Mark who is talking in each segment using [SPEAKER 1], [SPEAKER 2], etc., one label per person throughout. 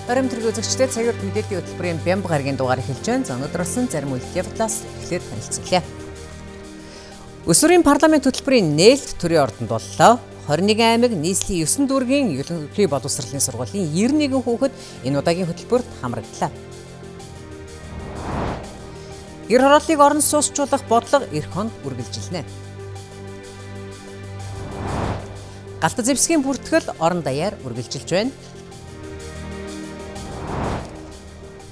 [SPEAKER 1] Оройн төргийн үзэгчдээ цагаарт мэдээллийн хөтөлбөрийн Бямб гарагийн дугаар эхэлж байна. За өнөөдөр болсон зарим үйлдэл явдлаас эхлээд танилцуулъя. Өсвөрийн парламент хөтөлбөрийн нээлт төрийн ордонд боллоо. 21 аймаг нийслэлийн 9 дүүргийн ерөнхий боловсролын сургуулийн 91 хүүхэд энэ удаагийн хөтөлбөрт хамрагдлаа. Гэр хорооллыг орон суусчлах бодлого эх хонд үргэлжилнэ. Галт зэвсгийн бүртгэл орон даяар үргэлжилж байна.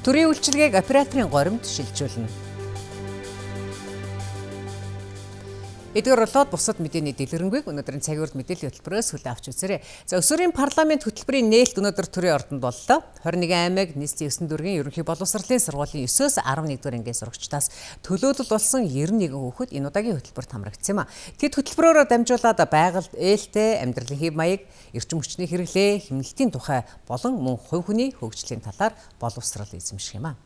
[SPEAKER 1] Төрийн үйлчилгээг операторын горимд шилжүүлнэ. Эдгээр болоод бусад мэдээний дэлгэрэнгүй өнөөдрийн цагаарт мэдээллийн хөтөлбөрөөс хүлээн авч үзээрэй. За өсвөрийн парламент хөтөлбөрийн нээлт өнөөдөр төрийн ордонд боллоо. 21 аймаг нийслэлийн 9 дүүргийн ерөнхий боловсролын сургуулийн 9-өөс 11 дугаар ангийн сурагчдаас төлөөлөл болсон 91 хүүхэд энэ удаагийн хөтөлбөрт хамрагдсан юм а. Тэд хөтөлбөрөөрөө дамжуулаад байгальд ээлтэй амьдралын хэв маяг, эрчим хүчний хэрэглээ, хэмнэлтийн тухай болон мөн хувь хүний хөгжлийн талаар боловсрол эзэмших юм а.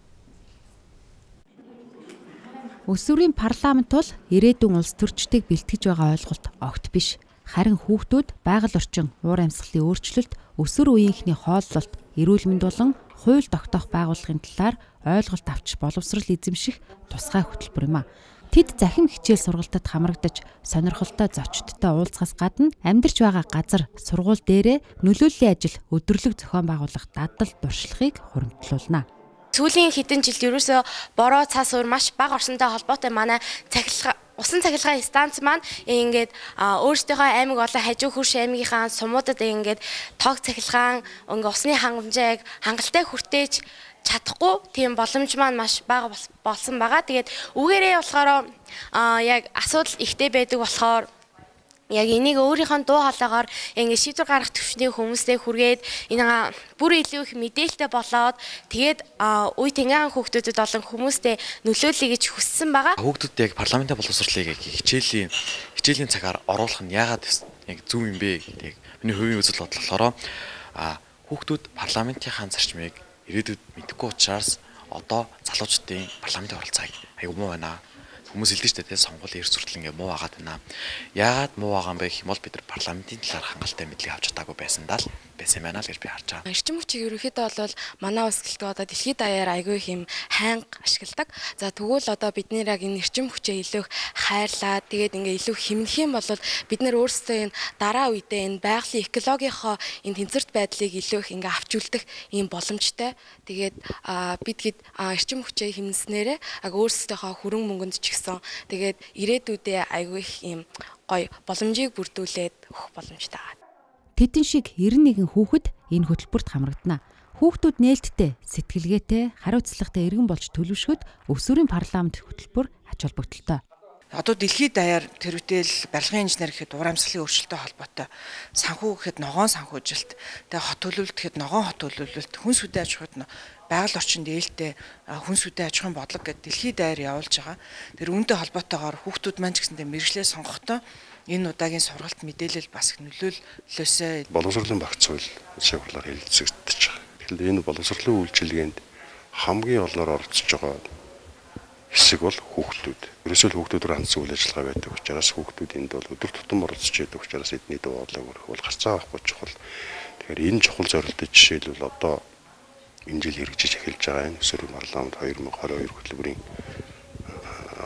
[SPEAKER 2] Өсвөрийн парламент бол ирээдүйн улс төрчдийг бэлтгэж байгаа ойлголт огт биш. Харин хүүхдүүд байгаль орчин, уур амьсгалын өөрчлөлт, өсвөр үеийнхний хооллолт, эрүүл мэнд болон хууль тогтоох байгууллагын талаар ойлголт авч боловсрол эзэмших тусгай хөтөлбөр юм а. Тэд захин хичээл сургалтад хамрагдаж, сонирхолтой зочдтой уулзахаас гадна амьдарч байгаа газар, сургууль дээрээ нөлөөллийн ажил, өдөрлөг зохион байгуулах дадал дуршлагыг хуримтлуулна.
[SPEAKER 3] Сүүлийн хэдэн жилд ерөөсөө бороо цаас уур маш бага орсонтой холбоотой манай усан цахилгаан станц маань ингээд өөрсдийнхөө аймаг болон хажуу хөрш аймгийнхаа сумуудад ингээд тог цахилгаан ингээ усны хангамжааг хангалттай хүртээж чадахгүй тийм боломж маань маш бага болсон байгаа. Тэгээд үүгээрээ болохоор яг асуудал ихтэй байдаг болохоор яг энийг өөрийнхөө дуу хоолойгоор ингэ шийдвэр гаргах төвчний хүмүүстэй хүргээд энэ бүр илүү их мэдээлэлтэй болоод тэгээд үе тэнгэрийн хүүхдүүдэд болон хүмүүстэй нөлөөлөе гэж хүссэн байгаа.
[SPEAKER 4] Хүүхдүүд яг парламентын боловсролыг хичээлийн цагаар оруулах нь яагаад яг зөв юм бэ гэдэг миний хувийн үзэл бодол болохоор хүүхдүүд парламентынхаа зарчмыг ирээдүйд мэдэхгүй учраас одоо залуучдын парламентын оролцоог аюу муу байна. Хүмүүс хэлдэг шүү дээ, сонгуулийн эрс хүртэл ингээ муу агаад байна. Яагаад муу байгаа юм бэ гэх юм бол бид нар парламентын талаар хангалттай мэдлэг авч чадаагүй байсан байна л гэж би харж байгаа.
[SPEAKER 5] Эрчим хүчийг ерөнхийдөө бол манай улс гэлтээ одоо дэлхийд даяар айгүй их юм хайнга ашигладаг. За тэгвэл одоо бид нэр яг энэ эрчим хүчээ илүү хайрлаад тэгээд ингээ илүү хэмнэх юм бол бид нар өөрсдөө энэ дараа үедээ энэ байгалийн экологийнхоо энэ тэнцвэрт байдлыг илүү их ингээ авч үлдэх ийм боломжтой. Тэгээд бид эрчим хүчээ хэмнэснээрээ яг өөрсдийнхөө хөрөнгө мөнгөнд ч тэгээд ирээдүйдээ айгүй их юм гоё боломжийг бүрдүүлээд өгөх боломжтой байгаа.
[SPEAKER 2] Тэдэн шиг 91 хүүхэд энэ хөтөлбөрт хамрагдана. Хүүхдүүд нээлттэй, сэтгэлгээтэй, хариуцлагатай иргэн болж төлөвшөхөд өсвөрийн парламент хөтөлбөр ач холбогдолтой.
[SPEAKER 6] Одоо дэлхийд даяар тэрвэтэл барилгын инженер гэхэд уур амьсгалын өөрчлөлттэй холбоотой, санхүү гэхэд ногоон санхүүжилт, тэгээ хот төлөвлөлт гэхэд ногоон хот төлөвлөлт, хүнс үдэ аж ахуйд байгаль орчинд ээлтэй хүнс үдэ аж ахуйн бодлого гэдэг дэлхийд даяар явуулж байгаа. Тэр үүнтэй холбоотойгоор хүүхдүүд маань ч гэсэндээ мэргэжлээ сонгохдоо энэ удаагийн сургалт мэдээлэл бас их нөлөөллөөсөө
[SPEAKER 7] боловсролын багц хууль шийдвэрлэлээр хэлэлцэгдэж байгаа. Тэгэхээр энэ боловсролын үйлчилгээнд хамгийн олноор оролцож байгаа хэсэг бол хүүхдүүд. Ерөөсөө хүүхдүүдээр хандсан үйл ажиллагаа байдаг учраас хүүхдүүд энд бол өдөр тутам оролцож байдаг учраас эдний дуу хоолойг өргөх бол гарцаа авахгүй чухал. Тэгэхээр энэ чухал зорилттой жишээлбэл одоо энэ жил хэрэгжиж эхэлж байгаа энэ өсвөрийн парламент 2022 хөтөлбөрийн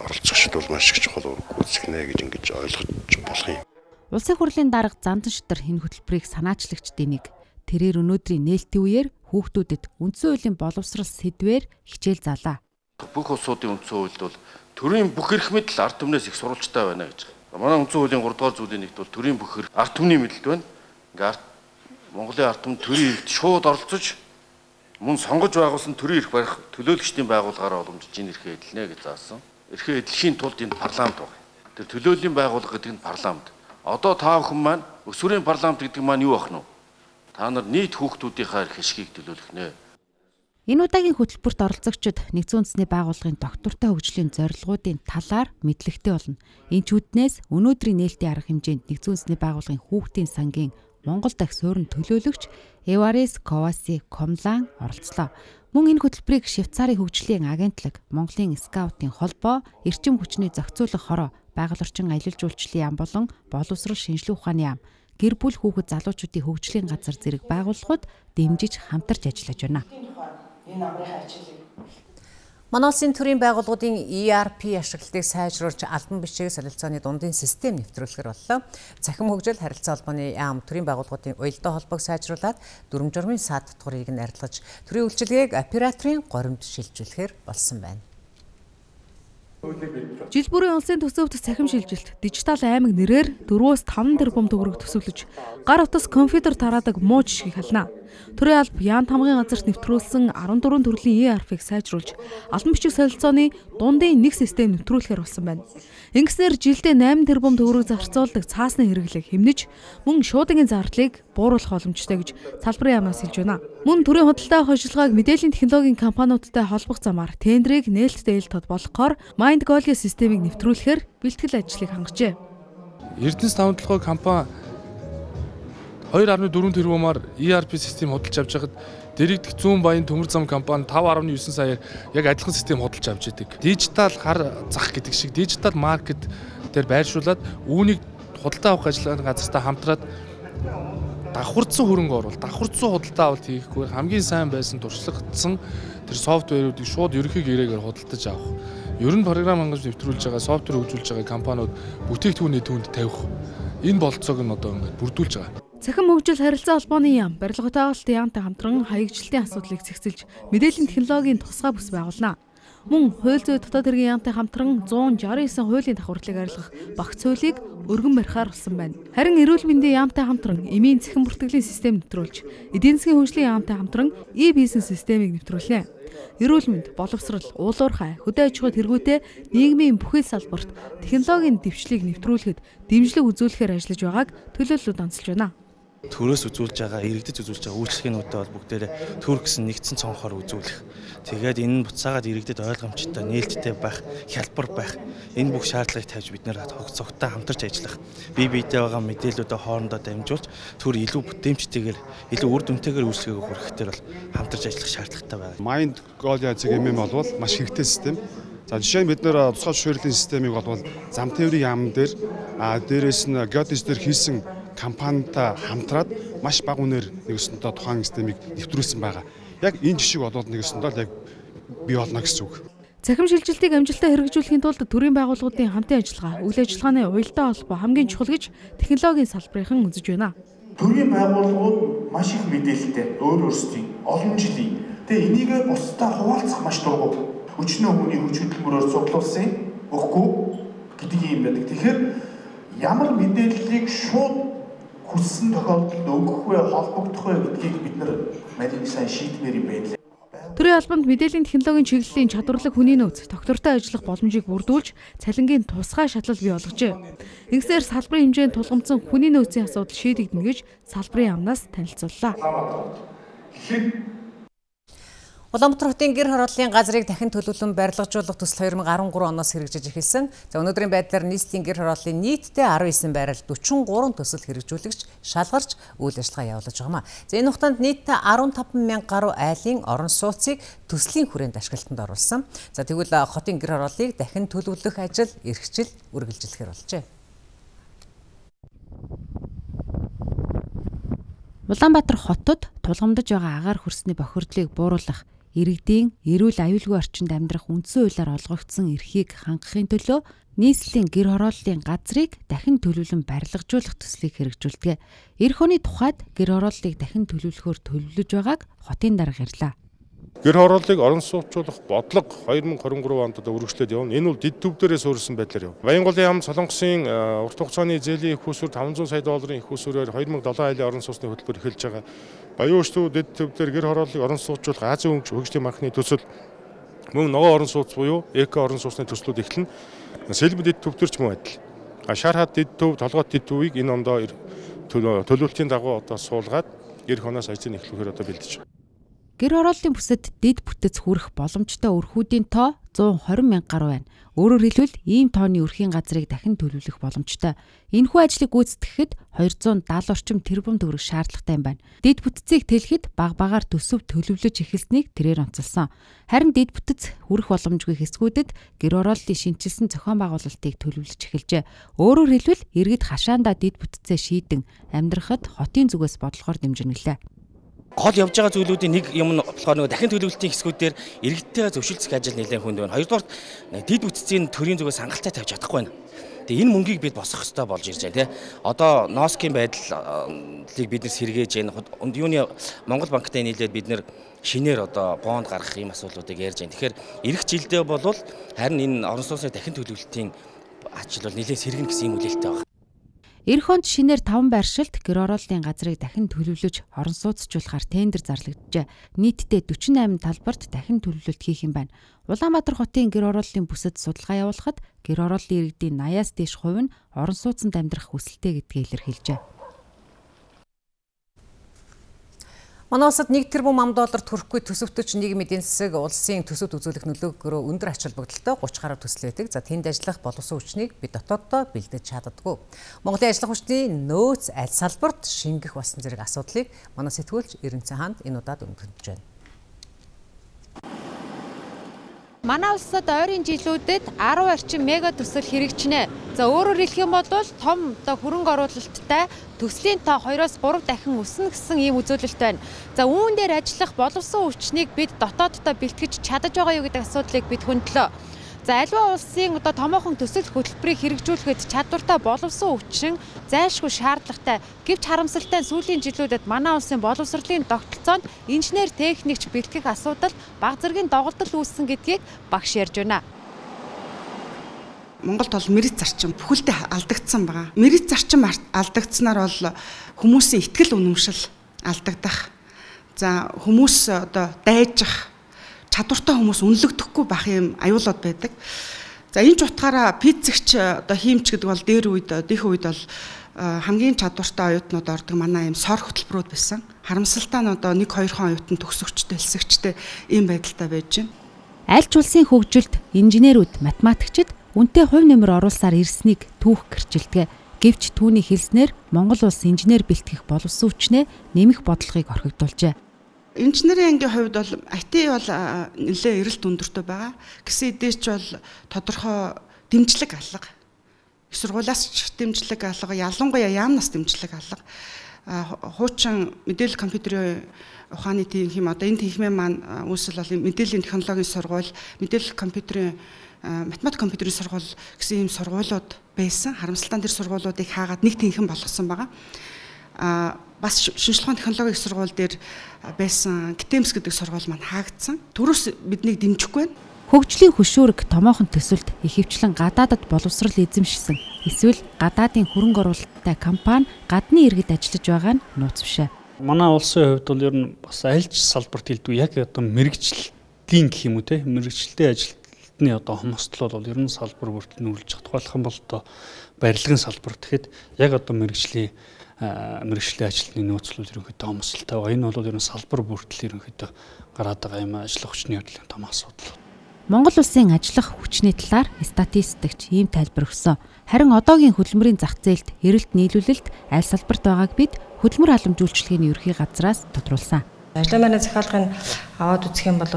[SPEAKER 7] оролцогчд бол маш их чухал үүрэг гүйцэтгэнэ гэж ингэж ойлгож болох юм.
[SPEAKER 2] Улсын хурлын дарга Зандан Шитэр энэ хөтөлбөрийг санаачлагч дэмиг. Тэрээр өнөөдрийн нээлтийн үеэр хүүхдүүдэд үндсэн хуулийн боловсрол сэдвээр хичээл заалаа.
[SPEAKER 8] Бүх улсуудын үндсэн хуульд бол төрийн бүх эрх мэдэл ард түмнээс их сурвалжтай байна гэж. Манай үндсэн хуулийн 3 дугаар зүйлийн нэгт бол төрийн бүх эрх ард түмний мэдэлд байна. Ингээ Монголын ард түмэн төрийн эрхт шууд оролцож мөн сонгож байгуулсан төрийн эрх барих төлөөлөгчдийн байгууллагаараа уламжлж энэ эрхээ эдэлнэ гэж заасан. Эрхээ эдлэхийн тулд энэ парламент байна. Тэр төлөөллийн байгууллага гэдэг нь парламент. Одоо та бүхэн маань өсвөрийн парламент гэдэг маань юу ах нь вэ? Та нар нийт хүүхдүүдийнхаа эрх ашгийг төлөөлөх нэ.
[SPEAKER 2] Энэ удаагийн хөтөлбөрт оролцогчид нэгдсэн үндэсний байгууллагын доктортой хөгжлийн зорилгоодын талаар мэдлэгтэй болно. Энэ чүүднээс өнөөдрийн нээлтийн арга хэмжээнд нэгдсэн үндэсний байгууллагын хүүхдийн сангийн Монгол дахь суурин төлөөлөгч Эварес Коваси Комлан оролцлоо. Мөн энэ хөтөлбөрийг Швейцарын хөгжлийн агентлаг, Монголын скаутын холбоо, эрчим хүчний зохицуулах хороо, байгаль орчин аялал жуулчлалын яам болон боловсрол шинжилгээ ухааны яам, гэр бүл хүүхэд залуучуудын хөгжлийн газар зэрэг байгууллагууд дэмжиж хамтарч ажиллаж байна. Манай улсын төрийн байгууллагуудын ERP ашиглалтыг сайжруулж албан бичиг солилцооны дундын систем нэвтрүүлэхэр боллоо. Цахим хөгжил харилцаа холбооны яам төрийн байгууллагуудын уялдаа холбоог сайжруулад дүрм журмын саад татварыг нь арилгаж төрийн үйлчилгээг операторын горимд шилжүүлэхээр болсон байна. Жил бүрийн улсын төсөвт цахим шилжилт дижитал аймаг нэрээр 4-5 тэрбум төгрөг төсөвлөж гар утас компьютер тараадаг муу жишгийг хална. Төрийн алба Яант хамгын газарт нэвтрүүлсэн 14 төрлийн ERP-г сайжруулж албан бичиг солилцооны дундын нэг систем нэвтрүүлэхээр болсон байна. Ингэснээр жилдээ 8 тэрбум төгрөг зарцуулдаг цаасны хэрэглээг хэмнэж мөн шуудангийн зардлыг бууруулах боломжтой гэж салбарын яамнаас хэлж байна. Мөн төрийн худалдаа авах ажиллагааг мэдээллийн технологийн компаниудтай холбох замаар тендерийг нээлттэй ил тодболохоор MindGoal системийг нэвтрүүлэхээр бэлтгэл ажлыг хангажээ.
[SPEAKER 9] Эрдэнэс тавталгын компани 2.4 тэрбумаар ERP систем худалдаж авч байхад дэрэгдэх зүүн баян төмөр зам компани 5.9 саяар яг адилхан систем худалдаж авч идэг. Дижитал хар зах гэдэг шиг дижитал маркет дээр байршуулад үүнийг худалдаа авах ажиллагааны газартаа хамтраад давхарцсан хөрөнгө оруулалт, давхарцсан худалдаа авалт хийхгүй хамгийн сайн байсан туршлагатсан тэр софтверуудыг шууд ерөнхий гэрээгээр худалдаж авах. Ер нь програм хангаж нэвтрүүлж байгаа, софтвер хөгжүүлж байгаа компаниуд бүтээгдэхүүний түүнд тавих энэ болцоог нь одоо ингээд бүрдүүлж байгаа.
[SPEAKER 2] Цахим хөгжил харилцаа холбооны яам барилгын байгуулалтын яамтай хамтран хаягжилтын асуудлыг зэгцэлж мэдээллийн технологийн тусгай бүс байгуулна. Мөн хууль зүйн дотоод хэргийн яамтай хамтран 169 хуулийн давхарлыг арилгах багц хуулийг өргөн барихаар болсон байна. Харин эрүүл мэндийн яамтай хамтран эмийн цахим бүртгэлийн систем нэвтрүүлж, эдийн засгийн хөгжлийн яамтай хамтран e-бизнес системийг нэвтрүүлнэ. Эрүүл мэнд, боловсрол, уулуурхай, хөдөө аж ахуй тэргүүтээ нийгмийн бүхэл салбарт технологийн дэвшлиг нэвтрүүлэхэд дэмжлэг үзүүлэхээр ажиллаж байгааг төлөөллүүд онцолж байна.
[SPEAKER 10] Төрөөс үзүүлж байгаа, иргэдэд үзүүлж байгаа үйлчлэгээнүүдтэй бол бүгдээрээ төр гэсэн нэгдсэн цонхоор үзүүлэх. Тэгээд энэ нь буцаагаад иргэдэд ойлгомжтой, нээлттэй байх, хялбар байх. Энэ бүх шаардлагыг тавьж бид нэр цогтой хамтарч ажиллах. Бие биедээ байгаа мэдээллүүдээ хоорондоо дамжуулж төр илүү бүтээмжтэйгээр, илүү үр дүнтэйгээр үйлчлэгээ хүргэхээр бол хамтарч ажиллах шаардлагатай байна.
[SPEAKER 7] MindGoal MM болвол маш хэрэгтэй систем. За жишээ нь бид нэр тусгай зөвшөөрлийн системийг болвол зам тээврийн яам дээр дээрээс нь геодез дээр хийсэн компанитай хамтраад маш бага үнээр нэгсэнтэй тухайн системийг нэвтрүүлсэн байгаа. Яг энэ жишээ болоод нэгсэнтэй яг бий болно гэсэн үг.
[SPEAKER 2] Цахим шилжилтийг амжилттай хэрэгжүүлэхийн тулд төрийн байгууллагуудын хамтын ажиллагаа, үйл ажиллагааны уялдаа холбоо хамгийн чухал гэж технологийн салбарынхан үзэж байна.
[SPEAKER 11] Төрийн байгууллагууд маш их мэдээлэлтэй, өөрсдийн олон жилийн. Тэгээ энийг бусдаа хуваалцах маш дургуй. Өчнөө хүний хүч хөдөлмөрөөр цуглуулсан өгөхгүй гэдэг юм байдаг. Тэгэхээр ямар мэдээллийг шууд хүссэн тохиолдолд өгөх вэ, холбогдох вэ гэдгийг бид нар марийн сайн шийдмээр юм байна.
[SPEAKER 2] Төрийн албанд мэдээллийн технологийн чиглэлийн чадварлаг хүний нөөц, доктортой ажиллах боломжийг бүрдүүлж, цалингийн тусгай шатлал бий болгожээ. Ингэснээр салбарын хэмжээнд тулгамдсан хүний нөөцийн асуудал шийдэгдэнэ гэж салбарын яамнаас танилцууллаа.
[SPEAKER 1] Улаанбаатар хотын гэр хорооллын газрыг дахин төлөвлөн барилгажуулах төсөл 2013 оноос хэрэгжиж эхэлсэн. За өнөөдрийн байдлаар нийслэлийн гэр хорооллын нийтдээ 19 байрал 43 төсөл хэрэгжүүлэгч шалгарч үйл ажиллагаа явуулж байгаамаа. За энэ хугацаанд нийтдээ 15,000 гаруй айлын орон сууцыг төслийн хүрээнд ашиглалтанд оруулсан. За тэгвэл хотын гэр хорооллыг дахин төлөвлөх ажил эрхжил үргэлжилэхээр болжээ.
[SPEAKER 2] Улаанбаатар хотод тулгамдж байгаа агаар хөрсний бохирдлыг бууруулах, иргэдийн эрүүл аюулгүй орчинд амьдрах үндсэн хуулиар олгогдсон эрхийг хангахын төлөө нийслэлийн гэр хорооллын газрыг дахин төлөвлөн барилгажуулах төслийг хэрэгжүүлдэг. Эх оны тухайд гэр хорооллыг дахин төлөвлөхөөр төлөвлөж байгааг хотын дарга ярьлаа.
[SPEAKER 7] Гэр хорооллыг орон сууцуулах бодлого 2023 онд үргэлжлээд явна. Энэ бол дэд төв дээрээ суурилсан байдлаар яв. Баянголын яам Солонгосын урт хугацааны зээлийн их усүр 500 сая долларын их усүрээр 2007 айлын орон сууцны хөтөлбөр эхэлж байгаа. Баян өчтөв дэд төв дээр гэр хорооллыг орон сууцуулах Азийн хөгжлийн банкны төсөл мөн ногоон орон сууц буюу эко орон сууцны төслүүд эхэлнэ. Сэлб дэд төв төр ч мөн адил. Шар хад дэд төв, толгойт дэд төвийг энэ ондоо төлөвлөлтийн дагуу одоо суулгаад эх оноос ажлыг эхлүүлэхээр одоо бэлдэж байна.
[SPEAKER 2] Гэр орооллын бүсэд дэд бүтэц хүрэх боломжтой өрхүүдийн тоо 120 мянга гаруй байна. Өөрөөр хэлбэл ийм тооны өрхийн газрыг дахин төлөвлөх боломжтой. Энэхүү ажлыг гүйцэтгэхэд 270 орчим тэрбум төгрөг шаардлагатай юм байна. Дэд бүтцийг тэлэхэд багаар төсөв төлөвлөж эхэлснийг тэрээр онцолсон. Харин дэд бүтэц хүрэх боломжгүй хэсгүүдэд гэр орооллын шинчилсэн зохион байгуулалтыг төлөвлөж эхэлжээ. Өөрөөр хэлбэл иргэд хашаандаа дэд бүтцээ шийдэн амьдрахад хотын зүгээс бодлохоор дэмжинэ гэлээ.
[SPEAKER 10] Гол явж байгаа зүйлүүдийн нэг юм нь болохоор нөгөө дахин төлөвлөлтийн хэсгүүдээр иргэдтэйгээ зөвшөлдсөх ажил нэлээд хүнд байна. Хоёрдугаар дэд бүтцийн төрийн зүгээс хангалттай тавьж чадахгүй байна. Тэгээ энэ мөнгийг бид босгох хэрэгтэй болж ирж байна тий. Одоо носкийн байдлыг бид нэр сэргээж байна. Юуны Монгол банктай нийлээд бид нэр шинээр одоо бонд гаргах ийм асуудлуудыг ярьж байна. Тэгэхээр эх жилдээ бол харин энэ орон сууцны дахин төлөвлөлтийн ажил бол нэлээд сэргэн гэсэн юм үлээлттэй байна.
[SPEAKER 2] Эх онд шинээр 5 байршилт гэр орооллын газрыг дахин төлөвлөж орон сууцчлуулахаар тендер зарлагджээ. Нийтдээ 48 талбарт дахин төлөвлөлт хийх юм байна. Улаанбаатар хотын гэр орооллын бүсэд судалгаа явуулахад гэр орооллын иргэдийн 80-аас дээш хувь нь орон сууцнд амьдрах хүсэлтэй гэдгийг илэрхийлжээ.
[SPEAKER 1] Манай улсад 1 тэрбум $1 төрөхгүй төсөвтөч нийгмийн эдийн засаг улсын төсөвт үзүүлэх нөлөөгөөрөө өндөр ач холбогдолтой 30 гаруй төсөл байдаг. За тэнд ажиллах боловсон хүчнийг бид дотооддоо бэлдэж чаддаггүй. Монголын ажиллах хүчний нөөц аль салбарт шингэх болсон зэрэг асуудлыг манай сэтгүүлч Эренцэн хаанд энэ удаад өндөрлөж байна.
[SPEAKER 2] Манай улсад ойрын жилүүдэд 10 орчим мега төсөл хэрэгжинэ. За өөрөөр хэлэх юм бол том хөрөнгө оруулалттай төслийн тоо 2-3 дахин өснө гэсэн ийм үзүүлэлт байна. За үүн дээр ажиллах боловсон хүчнийг бид дотооддоо бэлтгэж чадаж байгаа юу гэдэг асуудлыг бид хөндлөө. За аливаа улсын томоохон төсөл хөтөлбөрийг хэрэгжүүлэхэд чадвартай боловсон хүчин зайлшгүй шаардлагатай. Гэвч харамсалтай нь сүүлийн жилүүдэд манай улсын боловсролын тогтолцоонд инженер техникч бэлтгэх асуудал бага зэргийн доголдол үүссэн гэдгийг багш ярьж байна.
[SPEAKER 12] Монголд бол мэргэц зарчим бүхэлдээ алдагдсан байгаа. Мэргэц зарчим алдагдсанаар бол хүмүүсийн итгэл үнэмшил алдагдах. За хүмүүс дайжих чадвартай хүмүүс үнэлэгдэхгүй байх юм аюулууд байдаг. За энэ ч утгаараа пиццэгч хиймч гэдэг бол дээр үед дэх үед бол хамгийн чадвартай оюутнууд ордог манай юм сор хөтөлбөрүүд байсан. Харамсалтай нь 1-2 хон оюутан төгсөгчтэй, элсэгчтэй ийм байдалтай байж байна.
[SPEAKER 2] Аль ч улсын хөгжилд инженерүүд, математикчид үнэтэй хувь нэмэр оруулсаар ирснийг түүх гэрчилдэг. Гэвч түүний хэлснээр Монгол улс инженер бэлтгэх боловсон хүчнээ нэмэх бодлогыг орхигдуулжээ.
[SPEAKER 12] Инженерийн ангийн хувьд бол IT бол нэлээд эрэлт өндөртэй байгаа. Гэсэн эдээч бол тодорхой дэмжлэг алга. Их сургуулиас ч дэмжлэг алга, ялангуяа яамнаас дэмжлэг алга. Хуучин мэдээлэл компьютерийн ухааны тэнхим энэ тэнхимээ маань үүсэл бол мэдээллийн технологийн сургууль, мэдээлэл компьютерийн математик компьютерийн сургууль гэсэн ийм сургуулиуд байсан. Харамсалтай тэр сургуулиудыг хаагаад нэг тэнхим болгосон байгаа. Бас шинжилгээ технологийн сургууль дээр байсан ГТЭМС гэдэг сургууль маань хаагдсан. Төрөөс биднийг дэмжихгүй байна.
[SPEAKER 2] Хөгжлийн хөшүүрэг томоохон төсөлд ихэвчлэн гадаадад боловсрол эзэмшсэн. Эсвэл гадаадын хөрөнгө оруулалттай компани гадны иргэд ажиллаж байгаа нь нууц бишээ.
[SPEAKER 13] Манай улсын хувьд бол ер нь бас аль ч салбарт хэлдгүй яг мэрэгжлийн гэх юм уу те мэрэгчлэлтэй ажилтны хомсдол бол ер нь салбар бүрт нүүрлж чадах болох юм бол барилгын салбар тэгэхэд яг мэрэгжлийн ажилтны нөөцлөл ерөнхийдөө хомсдолтой байгаа. Энэ бол ер нь салбар бүртэл ерөнхийдөө гараад байгаа юм ажиллах хүчний хөдөлгөөний том асуудал.
[SPEAKER 2] Монгол улсын ажиллах хүчний талаар статистикч ийм тайлбар өгсөн. Харин одоогийн хөдөлмөрийн зах зээлд эрэлт нийлүүлэлт аль салбарт байгааг бид хөдөлмөр халамж үйлчилгээний ерхий газраас тодруулсан.
[SPEAKER 14] Ажлын байрны захиалгыг аваад үзэх юм бол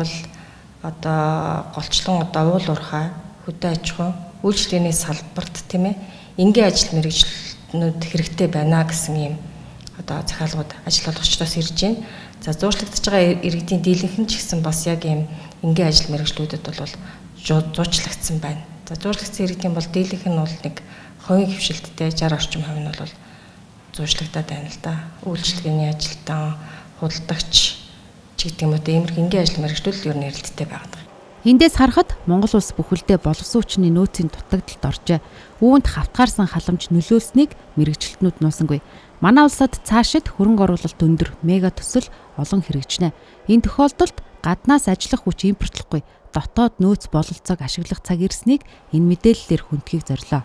[SPEAKER 14] голчлон уул уурхай, хөдөө аж ахуй, үйлчилгээний салбарт тийм ээ энгийн ажил мэргэжлүүд хэрэгтэй байна гэсэн ийм захиалгууд ажил олгогчдоос ирж байна. За зуучлагдж байгаа иргэдийн дийлэнх нь ч гэсэн бас яг ийм энгийн ажил мэргэжлүүдэд бол зуучлагдсан байна. За зуучлагдсан иргэдийн бол дийлэнх нь бол нэг хувийн хвшилттэй 60 орчим хувь нь бол зуучлагдаад байна л да. Үйлчилгээний ажилтан, худалдагч ч гэдэг юм уу иймэрхүү энгийн ажил мэргэжлүүд ер нь эрэлттэй байгаа.
[SPEAKER 2] Эндээс харахад Монгол улс бүхэлдээ боловсон хүчний нөөцийн дутагдалд оржээ. Үүнд хавтгаарсан халамж нөлөөлснийг мэргэжилтнүүд нуусангүй. Манай улсад цаашид хөрөнгө оруулалт өндөр мега төсөл олон хэрэгжинэ. Энэ тохиолдолд гаднаас ажиллах хүч импортлохгүй, дотоод нөөц бололцоог ашиглах цаг ирснийг энэ мэдээллээр хүндхийг зорилоо.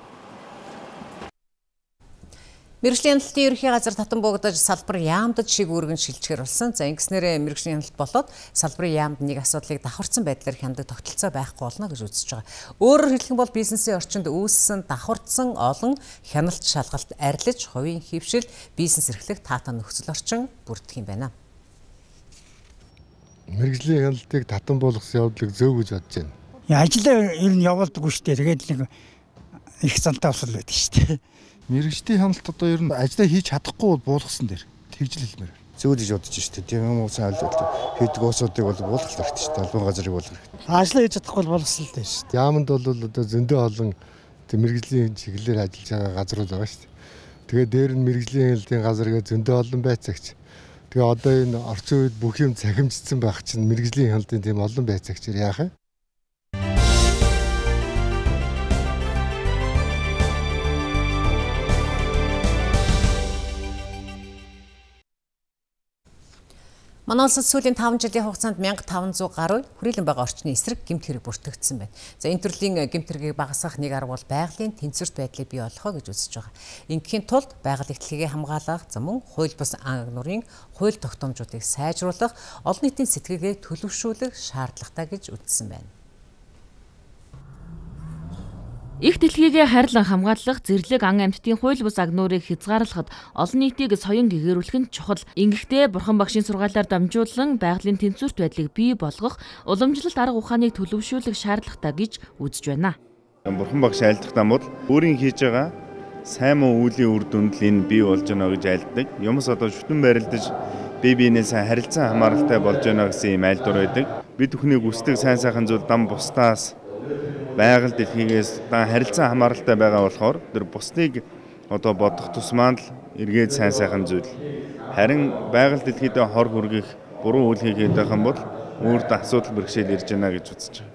[SPEAKER 1] Мэргэжлийн хяналтын ерөнхий газар татан буугдаж салбар яамдад шиг үүргэн шилжчихэр болсон. За ингэснээр мэргэжлийн хяналт болоод салбарын яамд нэг асуудлыг давхарцсан байдлаар хяндаг тогтолцоо байхгүй болно гэж үзэж байгаа. Өөрөөр хэлэх юм бол бизнесийн орчинд үүссэн давхарцсан олон хяналт шалгалт арилж, хувийн хэвшил, бизнес эрхлэх таатай нөхцөл орчин бүрдэх юм байна.
[SPEAKER 15] Мэргэжлийн хяналтыг татан болгосон явдлыг зөв гэж бодож байна.
[SPEAKER 16] Ажлаа ер нь явуулдаг шүү дээ. Тэгээд нэг их цантаа усал байдаг шүү дээ.
[SPEAKER 15] Мэргэжлийн хяналт одоо ер нь ажлаа хийж чадахгүй бол буулгасан дээр тэгж л хэлмээр. Зөв гэж бодож шүү дээ. Тийм юм уусаа ойлголт хийдэг уусуудыг бол буулгах хэрэгтэй шүү дээ. Албан газрыг буулгах хэрэгтэй.
[SPEAKER 16] Ажлаа хийж чадахгүй бол болгосон л дээ шүү дээ.
[SPEAKER 15] Яамд бол одоо зөндөө олон мэргэжлийн чиглэлээр ажиллаж байгаа газрууд байгаа шүү дээ. Тэгээд дээр нь мэргэжлийн хяналтын газар гэж зөндөө олон байцаагч. Тэгээ одоо энэ орчин үед бүх юм цахимжсан байх чинь мэргэжлийн хяналтын тийм олон байцаагчаар яах вэ?
[SPEAKER 1] Манай улсад сүүлийн 5 жилийн хугацаанд 1500 гаруй хүрээлэн байгаа орчны эсрэг гэмт хэрэг бүртгэгдсэн байна. За энэ төрлийн гэмт хэрэгийг багасгах нэг арга бол байгалийн тэнцвэрт байдлыг бий болгох гэж үзэж байгаа. Ингэхийн тулд байгаль эрхлэгээ хамгаалах, мөн хууль бус ан агнуурын хууль тогтоомжуудыг сайжруулах, олон нийтийн сэтгэлгээг төлөвшүүлэх шаардлагатай гэж үзсэн байна.
[SPEAKER 2] Их дэлхийгээ хайрлан хамгаалах, зэрлэг ан амьтдын хууль бус агнуурыг хязгаарлахад олон нийтийг соён гэгэрүүлэх нь чухал. Ингэхдээ Бурхан багшийн сургаалаар дамжуулан байгалийн тэнцвэрт байдлыг бий болгох, уламжлалт арга ухааныг төлөвшүүлэх шаардлагатай гэж үзэж байна.
[SPEAKER 17] Бурхан багш айлдах дамууд өөрийн хийж байгаа сайн муу үеийн үр дүнд л энэ бий болж байна гэж айлддаг. Юмс одоо шүтэн байрлаж бие биенээ сайн харилцан хамааралтай болж байна гэсэн юм айлдвар байдаг. Бид бүхний хүсдэг сайн сайхан зүйл дам бусдаас байгаль дэлхийгээс харилцан хамааралтай байгаа болохоор тэр бусдыг одоо бодох тусмаа л эргээд сайн сайхан зүйл. Харин байгаль дэлхийдээ хор хүргэх буруу үйл хийгээд байх юм бол өөрт асуудал бэрхшээл ирж байна гэж үзэж байна.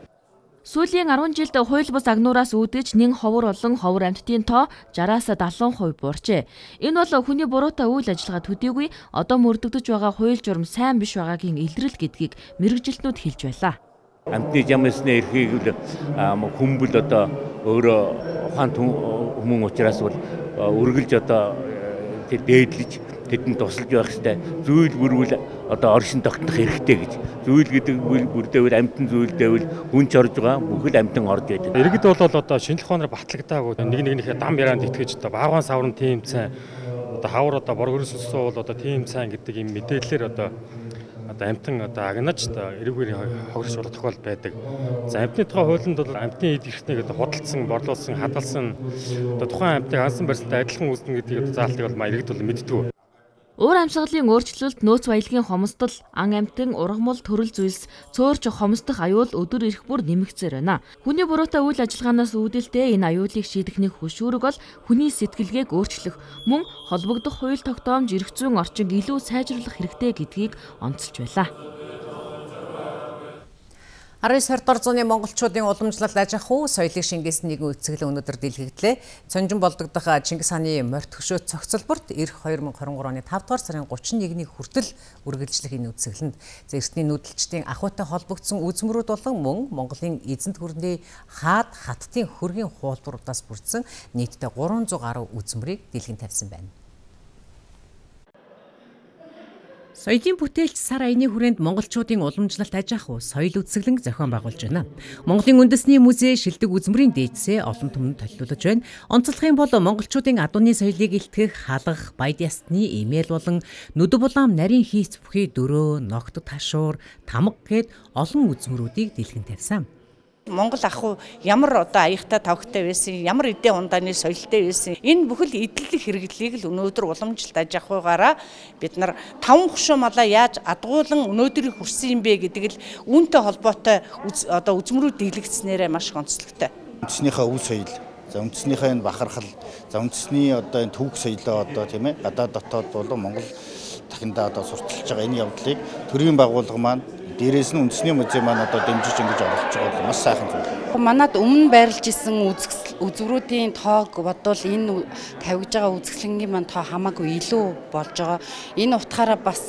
[SPEAKER 2] Сүүлийн 10 жилд хууль бус агнуураас үүдэж нэн ховор олон ховор амьтдын тоо 60-аас 70% буурчээ. Энэ бол хүний буруутай үйл ажиллагаа төдийгүй одоо мөрдөгдөж байгаа хууль журам сайн биш байгаагийн илрэл гэдгийг мэргэжилтнүүд хэлж байлаа.
[SPEAKER 18] Амьтны ямсны эрхийг хүмбэл одоо өөрөө ухаан хүмүүн учраас бол үргэлж одоо тэр дээдлэж тэдэнд тусалж байх хэрэгтэй. Зүйл бүрвэл одоо оршин тогтнох хэрэгтэй гэж. Зүйл гэдэг бүрдээвэл амьтан зүйлдээвэл хүнч орж байгаа бүхэл амьтан орж байдаг.
[SPEAKER 9] Иргэд бол одоо шинжлэх ухаанаар батлагдаагүй нэг дам яранд итгэж одоо багван саврын тийм цай одоо хавар одоо боргорс өссөн бол одоо тийм цай гэдэг юм мэдээлэлээр одоо амьтан одоо агнаж эрүүгээр хогрож болох тохиолдол байдаг. За амьтны тухай хуулинд бол амьтны эд эрхтнийг одоо худалдсан, борлуулсан, хадгалсан одоо тухайн амьтныг ансан барьсантай адилхан үүснэ гэдгийг заалтыг бол иргэд бол мэддэг.
[SPEAKER 2] Уур амьсгалын өөрчлөлт, нөөц баялагын хомсдол, ан амьтан, ургамал, төрөл зүйлс, цөөрч хомсдох аюул өдөр ирэх бүр нэмэгцээр байна. Хүний буруутай үйл ажиллагаанаас үүдэлтэй энэ аюулыг шийдэхний хөшүүрэг бол хүний сэтгэлгээг өөрчлөх, мөн холбогдох хууль тогтоомж эрх зүйн орчинг илүү сайжруулах хэрэгтэй гэдгийг онцолж байлаа.
[SPEAKER 1] 19-р зууны монголчуудын уламжлалт аж ахуй, соёлыг шингээсэн нэгэн үцэглэн өнөөдөр дэлгээгдлээ. Цонжин болдогдох Чингис хааны морьт хөшөө цогцолборт ирэх 2023 оны 5 дугаар сарын 31-ний хүртэл үргэлжлэх энэ үцэглэнд эртний нүүдэлчдийн ахуйтай холбогдсон үзмөрүүд болон мөн Монголын эзэнт гүрний хаад хаттын хөргийн хуулбаруудаас бүрдсэн нийтдээ 300 гаруй үзмрийг дэлгэн тавьсан байна. Соёлын бүтээлч сар аяны хүрээнд монголчуудын уламжлалт аж ахуй, соёл үзэсгэлэн зохион байгуулж байна. Монголын үндэсний музей шилдэг үзмрийн дээдсээ олон түмэнд толиулж байна. Онцлох юм бол монголчуудын адууны соёлыг илтгэх халах, баяд ястны эмээл болон нүд булаам нарийн хийц бүхий дөрөө, ногт ташуур, тамга гээд олон үзмрүүдийг дэлгэн тавьсан.
[SPEAKER 19] Монгол ахуй ямар одоо аяхтай тавхтай байсан, ямар эдийн ундааны соёлтой байсан. Энэ бүхэл эдлэг хэрэглийг л өнөөдөр уламжлалт аж ахуйгаараа бид нар 5 хөшөө малаа яаж адгуулan өнөөдрийг хүрсэн юм бэ гэдэг л үүнтэй холбоотой одоо үзмрүүд дийлэгдснээрээ маш онцлогтой.
[SPEAKER 20] Үндэснийхээ өв соёл, за үндэснийхээ энэ бахархал, за үндэсний одоо энэ төвөг соёлоо одоо тийм ээ гадаад дотоод болон Монгол дахиндаа одоо сурталчилж байгаа энэ явдлыг төрийн байгууллага маань дээрээс нь үндэсний музей маань одоо дэмжиж ингэж оруулж байгаа бол маш сайхан зүйл.
[SPEAKER 21] Манад өмнө байрлаж исэн үзврүүдийн тоог бодвол энэ тавьж байгаа үзэсгэлэнгийн маань тоо хамаагүй илүү болж байгаа. Энэ утгаараа бас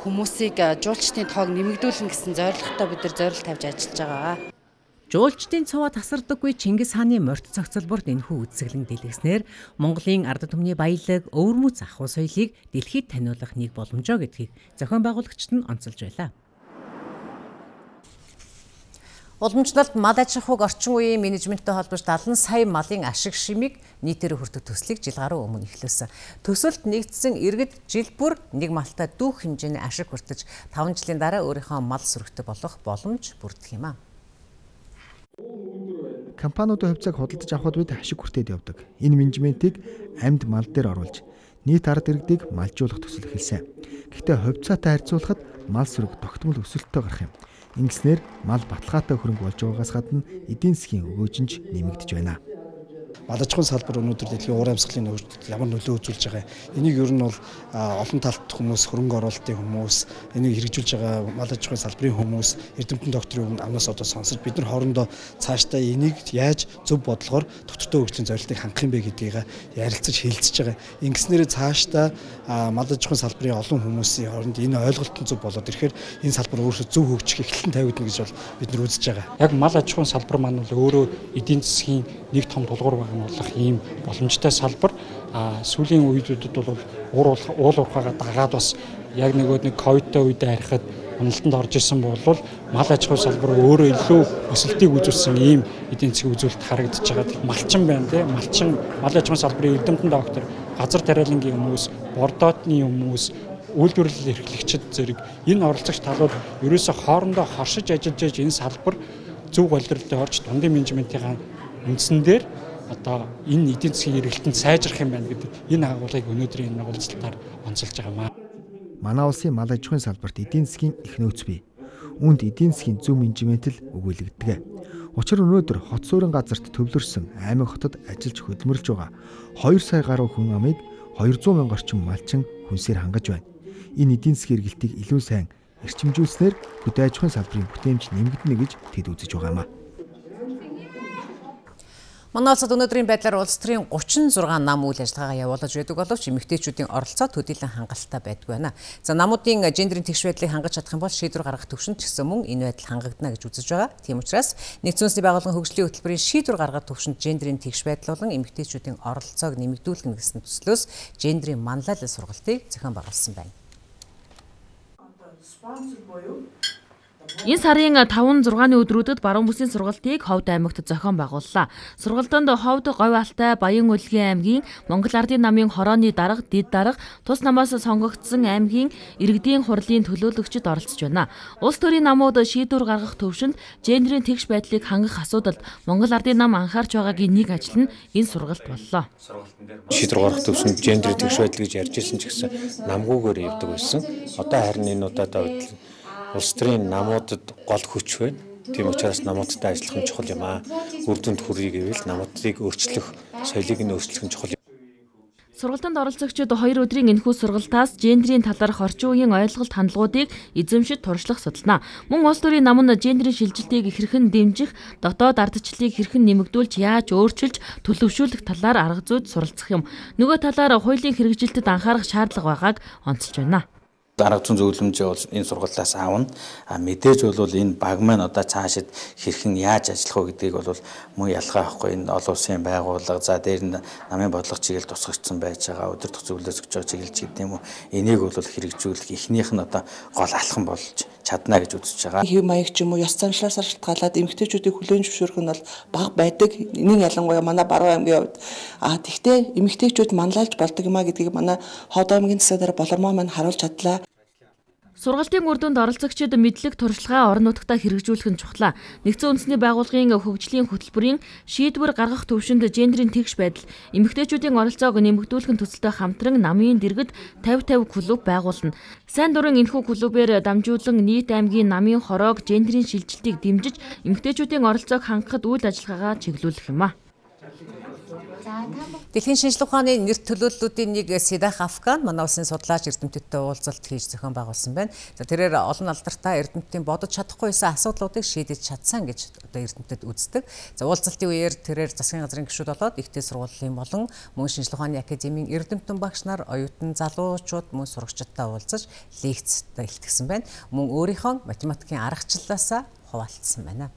[SPEAKER 21] хүмүүсийг жуулчдын тоог нэмэгдүүлнэ гэсэн зорилготой бид нар зорилт тавьж ажиллаж байгаа.
[SPEAKER 1] Жуулчдын цуваа тасардаггүй Чингис хааны морьт цогцлборт энэхүү үзэсгэлэн дэлгэснээр Монголын ард түмний баялаг, өвөрмөц ахуй соёлыг дэлхийд таниулах нэг боломжоо гэдгийг зохион байгуулагчид нь онцолж байлаа. Уламжлалт мал аж ахуйг орчин үеийн менежменттэй холбож 70 сая малын ашиг шимийг нийтээр хүртэх төслийг жил гаруй өмнө эхлүүлсэн. Төсөлд нэгдсэн иргэд жил бүр нэг малтай дүүх хэмжээний ашиг хүртэж 5 жилийн дараа өөрийнхөө мал сүрэгтэй болох боломж бүрдэх юм а.
[SPEAKER 3] Компаниудын хувьцааг худалдаж авахд үед ашиг хүртээд явдаг. Энэ менежментийг амьд мал дээр оруулж нийт ард иргэдийг малжуулах төсөл эхэлсэн. Гэхдээ хувьцаатай харьцуулахад мал сүрэг тогтмол өсөлттэй гарах юм. Ингэснээр мал баталгаатай хөрөнгө болж байгаагаас гадна эдийн засгийн өгөөжинж нэмэгдэж байна.
[SPEAKER 22] Мал аж ахуйн салбар өнөөдөр дэлхийн уур амьсгалын нөхцөлд ямар нөлөө үзүүлж байгаа. Энийг ер нь бол олон талт хүмүүс, хөрөнгө оруулалтын хүмүүс, энийг хэрэгжүүлж байгаа мал аж ахуйн салбарын хүмүүс, эрдэмтэн докторийн амнаас одоо сонсож бид нар хоорондоо цаашдаа энийг яаж зөв бодлогоор тогтвортой хөгжлийн зорилтыг хангах юм бэ гэдгийг ярилцаж хэлэлцэж байгаа. Ингэснээр цаашдаа мал аж ахуйн салбарын олон хүмүүсийн хооронд энэ ойлголт нь зөв болоод ирэхээр энэ салбар өөрөөсөө зөв хөгжих эхлэн тавигдана гэж бол бид нар үзэж байгаа.
[SPEAKER 13] Яг мал аж ахуйн салбар маань бол өөрөө эдийн засгийн нэг том тулгуур болох ийм боломжтой салбар. Сүүлийн үеүүдэд бол уул уурхайгаа дагаад бас яг нэг ковидтой үедээ харихад уналтанд орж исэн бол мал аж ахуй салбар өөрөө илүү өсөлтийг үзүүлсэн ийм эдийн засгийн үзүүлэлт харагдаж байгаа. Малчин байна тий. Малчин мал аж ахуйн салбарын эрдэмтэн доктор, газар тариалангийн хүмүүс, бордоотны хүмүүс, үйлдвэрлэл эрхлэгчид зэрэг энэ оролцогч талууд ерөөсөө хоорондоо хоршиж ажиллаж энэ салбар зөв голдролтой орж дундын менежментийн үндсэн дээр одоо энэ эдийн засгийн эргэлтэнд сайжрах юм байна гэдэг энэ агуулгыг өнөөдрийн энэ уулзалтаар онцолж байгаа маа.
[SPEAKER 3] Манай улсын мал аж ахуйн салбарт эдийн засгийн их нөөц бий. Үүнд эдийн засгийн зөв менежмент л өгүүлэгддэг. Учир нь өнөөдөр хот суурин газарт төвлөрсөн аймаг хотод ажиллаж хөдөлмөрлж байгаа 2 сая гаруй хүн амыг 200 мянга орчим малчин хүнсээр хангаж байна. Энэ эдийн засгийн эргэлтийг илүү сайн эрчимжүүлснээр хөдөө аж ахуйн салбарын бүтээмж нэмэгдэнэ гэж тэд үзэж байгаа юм а.
[SPEAKER 1] Манай улсад өнөөдрийн байдлаар улс төрийн 36 нам үйл ажиллагаа явуулж байдаг боловч эмэгтэйчүүдийн оролцоо төдийлөн хангалттай байдгүй байна. За намуудын гендерийн тэгш байдлыг хангаж чадах юм бол шийдвэр гаргах төвшөнд ч гэсэн мөн энэ байдал хангагдана гэж үзэж байгаа. Тийм учраас Нэгдсэн улсны байгууллагын хөгжлийн хөтөлбөрийн шийдвэр гаргах төвшөнд гендерийн тэгш байдал болон эмэгтэйчүүдийн оролцоог нэмэгдүүлэх гэсэн төслөөс гендерийн манлайлал сургалтыг зохион байгуулсан байна.
[SPEAKER 23] Энэ сарын 5-6-ны өдрүүдэд баруун бүсийн сургалтыг Ховд аймагт зохион байгууллаа. Сургалтанд Ховд, Говь Алтай, Баян Улгийн аймгийн Монгол Ардын намын хорооны дарга, Дид дарга, тус намаас сонгогдсон аймгийн иргэдийн хурлын төлөөлөгчид оролцож байна. Улс төрийн намууд шийдвэр гаргах төвшөнд гендерийн тэгш байдлыг хангах асуудалд Монгол Ардын нам анхаарч байгаагийн нэг ажил нь энэ сургалт боллоо.
[SPEAKER 24] Шийдвэр гаргах төвшөнд гендерийн тэгш байдал гэж ярьж ирсэн ч гэсэн намгүйгээр явдаг байсан. Одоо харин энэ удаад улс төрийн намуудад гол хүч байна. Тийм учраас намуудтай ажиллах нь чухал юм аа. Үр дүнд хүргий гэвэл намуудыг өөрчлөх, соёлыг нь өөрчлөх нь чухал.
[SPEAKER 23] Сургалтанд оролцогчид 2 өдрийн энэхүү сургалтаас гендерийн талаарх орчин үеийн ойлголт хандлагуудыг эзэмшиж туршлах судална. Мөн улс төрийн нам нь гендерийн шилжилтийг хэрхэн дэмжих, дотоод ардчлалыг хэрхэн нэмэгдүүлж, яаж өөрчилж, төлөвшүүлэх талаар арга зүйд суралцах юм. Нөгөө талаар хуулийн хэрэгжилтэд анхаарах шаардлага байгааг онцолж байна.
[SPEAKER 20] Арга зүйн зөвлөмжөө бол энэ сургалтаас аавна. Мэдээж бол энэ баг маань одоо цаашид хэрхэн яаж ажиллах вэ гэдгийг бол мөн ялгаа авахгүй. Энэ олон улсын байгууллага за дээр нь намын бодлого чиглэл тусгагдсан байж байгаа өдөр төгсгөлөөс өгч байгаа чиглэлч гэдэг юм уу. Энийг бол хэрэгжүүлэх эхнийх нь одоо гол алхам болж чадна гэж үзэж байгаа.
[SPEAKER 25] Хэв маяг ч юм уу ёс заншлаас шалтгаалаад эмэгтэйчүүдийг хүлээн зөвшөөрөх нь бол бага байдаг. Энийг ялангуяа манай баруун аймгийн хувьд тэгтээ эмэгтэйчүүд манлайлж болдог юм а гэдгийг манай Ховд аймгийн засгаар болормоо маань харуулж чадлаа.
[SPEAKER 23] Сургалтын үр дүнд оролцогчид мэдлэг туршлагаа орон нутгад хэрэгжүүлэх нь чухлаа. Нэгдсэн үндэсний байгууллагын хөгжлийн хөтөлбөрийн шийдвэр гаргах төвшөнд гендерийн тэгш байдал, эмэгтэйчүүдийн оролцоог нэмэгдүүлэх төсөлтэй хамтран намын дэргэд 50-50 клуб байгуулна. Сайн дурын энэхүү клубээр дамжуулан нийт аймгийн намын хороог гендерийн шилжилтийг дэмжиж, эмэгтэйчүүдийн оролцоог хангахад үйл ажиллагаагаа чиглүүлэх юм а.
[SPEAKER 1] Дэлхийн шинжлэх ухааны нэр төлөөллүүдийн нэг Седах Афган манай улсын судлаач эрдэмтдтэй уулзалт хийж зохион байгуулсан байна. За тэрээр олон алдартай эрдэмтдийн бодож чадахгүй байсан асуудлуудыг шийдэж чадсан гэж одоо эрдэмтэд үздэг. За уулзалтын үеэр тэрээр засгийн газрын гишүүд болоод ихтэй сургуулийн болон мөн шинжлэх ухааны академийн эрдэмтэн багш нар, оюутан залуучууд мөн сурагчдтай уулзаж лекцтэй илтгэсэн байна. Мөн өөрийнхөө математикийн аргачлалаасаа хуваалцсан байна.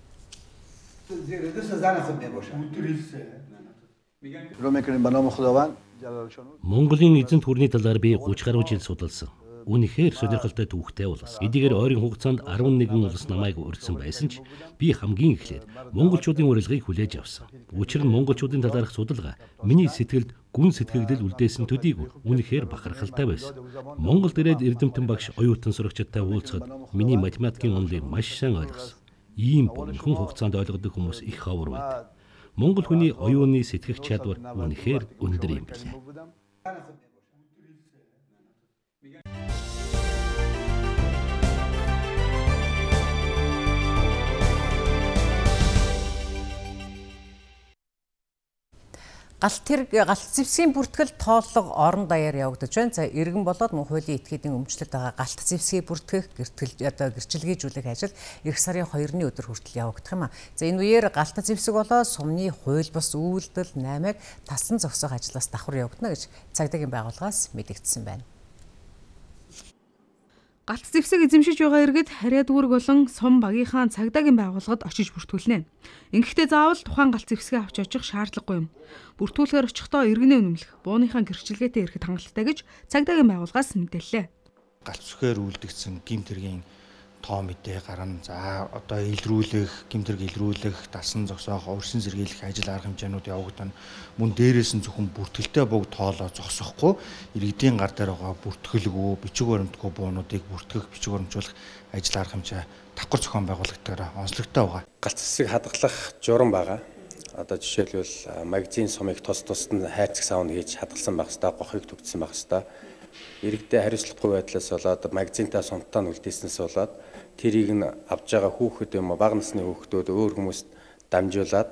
[SPEAKER 4] Монголын эзэнт хүрний талаар би 30 гаруй жил судалсан. Үнэхээр сонирхолтой түүхтэй улс. Эдгээр ойрын хугацаанд 11 улс намайг урьдсан байсан ч би хамгийн эхлээд монголчуудын урилгыг хүлээж авсан. Учир нь монголчуудын талаарх судалгаа миний сэтгэлд гүн сэтгэгдэл үлдээсэн төдийг үнэхээр бахархалтай байсан. Монголд ирээд Эрдэмтэн багш оюутан сурагчдтай уулзахад миний математикийн онолыг маш сайн ойлгосон. Ийм богино хугацаанд ойлгодог хүмүүс их ховор байдаг. Монгол хүний оюуны сэтгэх чадвар үнэхээр өндөр юм билээ.
[SPEAKER 1] Галт зэвсгийн бүртгэл тооллого орон даяар явагдаж байна. За иргэн болоод мөн хуулийн этгээдийн өмчлөлт байгаа галт зэвсгийг бүртгэх гэрчлэгжүүлэх ажил эх сарын 2-ны өдөр хүртэл явагдах юм а. За энэ үеэр галт зэвсэг болоод сумны хууль бус үйлдэл 8-ыг тасан зогсоох ажлаас давхар явагдана гэж цагдаагийн байгууллагаас мэдэгдсэн байна.
[SPEAKER 5] Галт зэвсэг эзэмшиж байгаа иргэд харьяа дүүрэг болон сум багийнхаа цагдаагийн байгууллагад очиж бүртгүүлнэ. Ингэхдээ заавал тухайн галт зэвсгээ авч очих шаардлагагүй юм. Бүртгүүлэхээр очихдоо иргэнээ үнэмлэх, бууныхаа гэрчлэгээтэй ирэхэд хангалттай гэж цагдаагийн байгууллагаас мэдээллээ.
[SPEAKER 22] Галт зэвсгээр үлдэгдсэн гэмт хэргийн тоо мэдээ гарна. За одоо илрүүлэх, гэмт хэрэг илрүүлэх, дасан зогсоох, өрсөн сэргийлэх ажил арга хэмжээнүүд явагдана. Мөн дээрээс нь зөвхөн бүртгэлтэй бог тоолоо зогсохгүй иргэдийн гар дээр байгаа бүртгэлгүй, бичиг баримтгүй буунуудыг бүртгэх, бичиг баримжуулах ажил арга хэмжээ давхар зохион байгуулагдтайгаар онцлогтой байгаа.
[SPEAKER 6] Галт зэвсэг хадгалах журам байгаа. Одоо жишээлбэл магазин сумыг тусад нь хайрцаг саунд хийж хадгалсан байх хэвээр, гохыг төгссөн байх хэвээр. Иргэдэд хариуцлагагүй байдлаас болоод магазинтай сумтаа үлдээснээс болоод тэрийг нь авж байгаа хүүхэд юм уу бага насны хүүхдүүд өөр хүмүүст дамжуулаад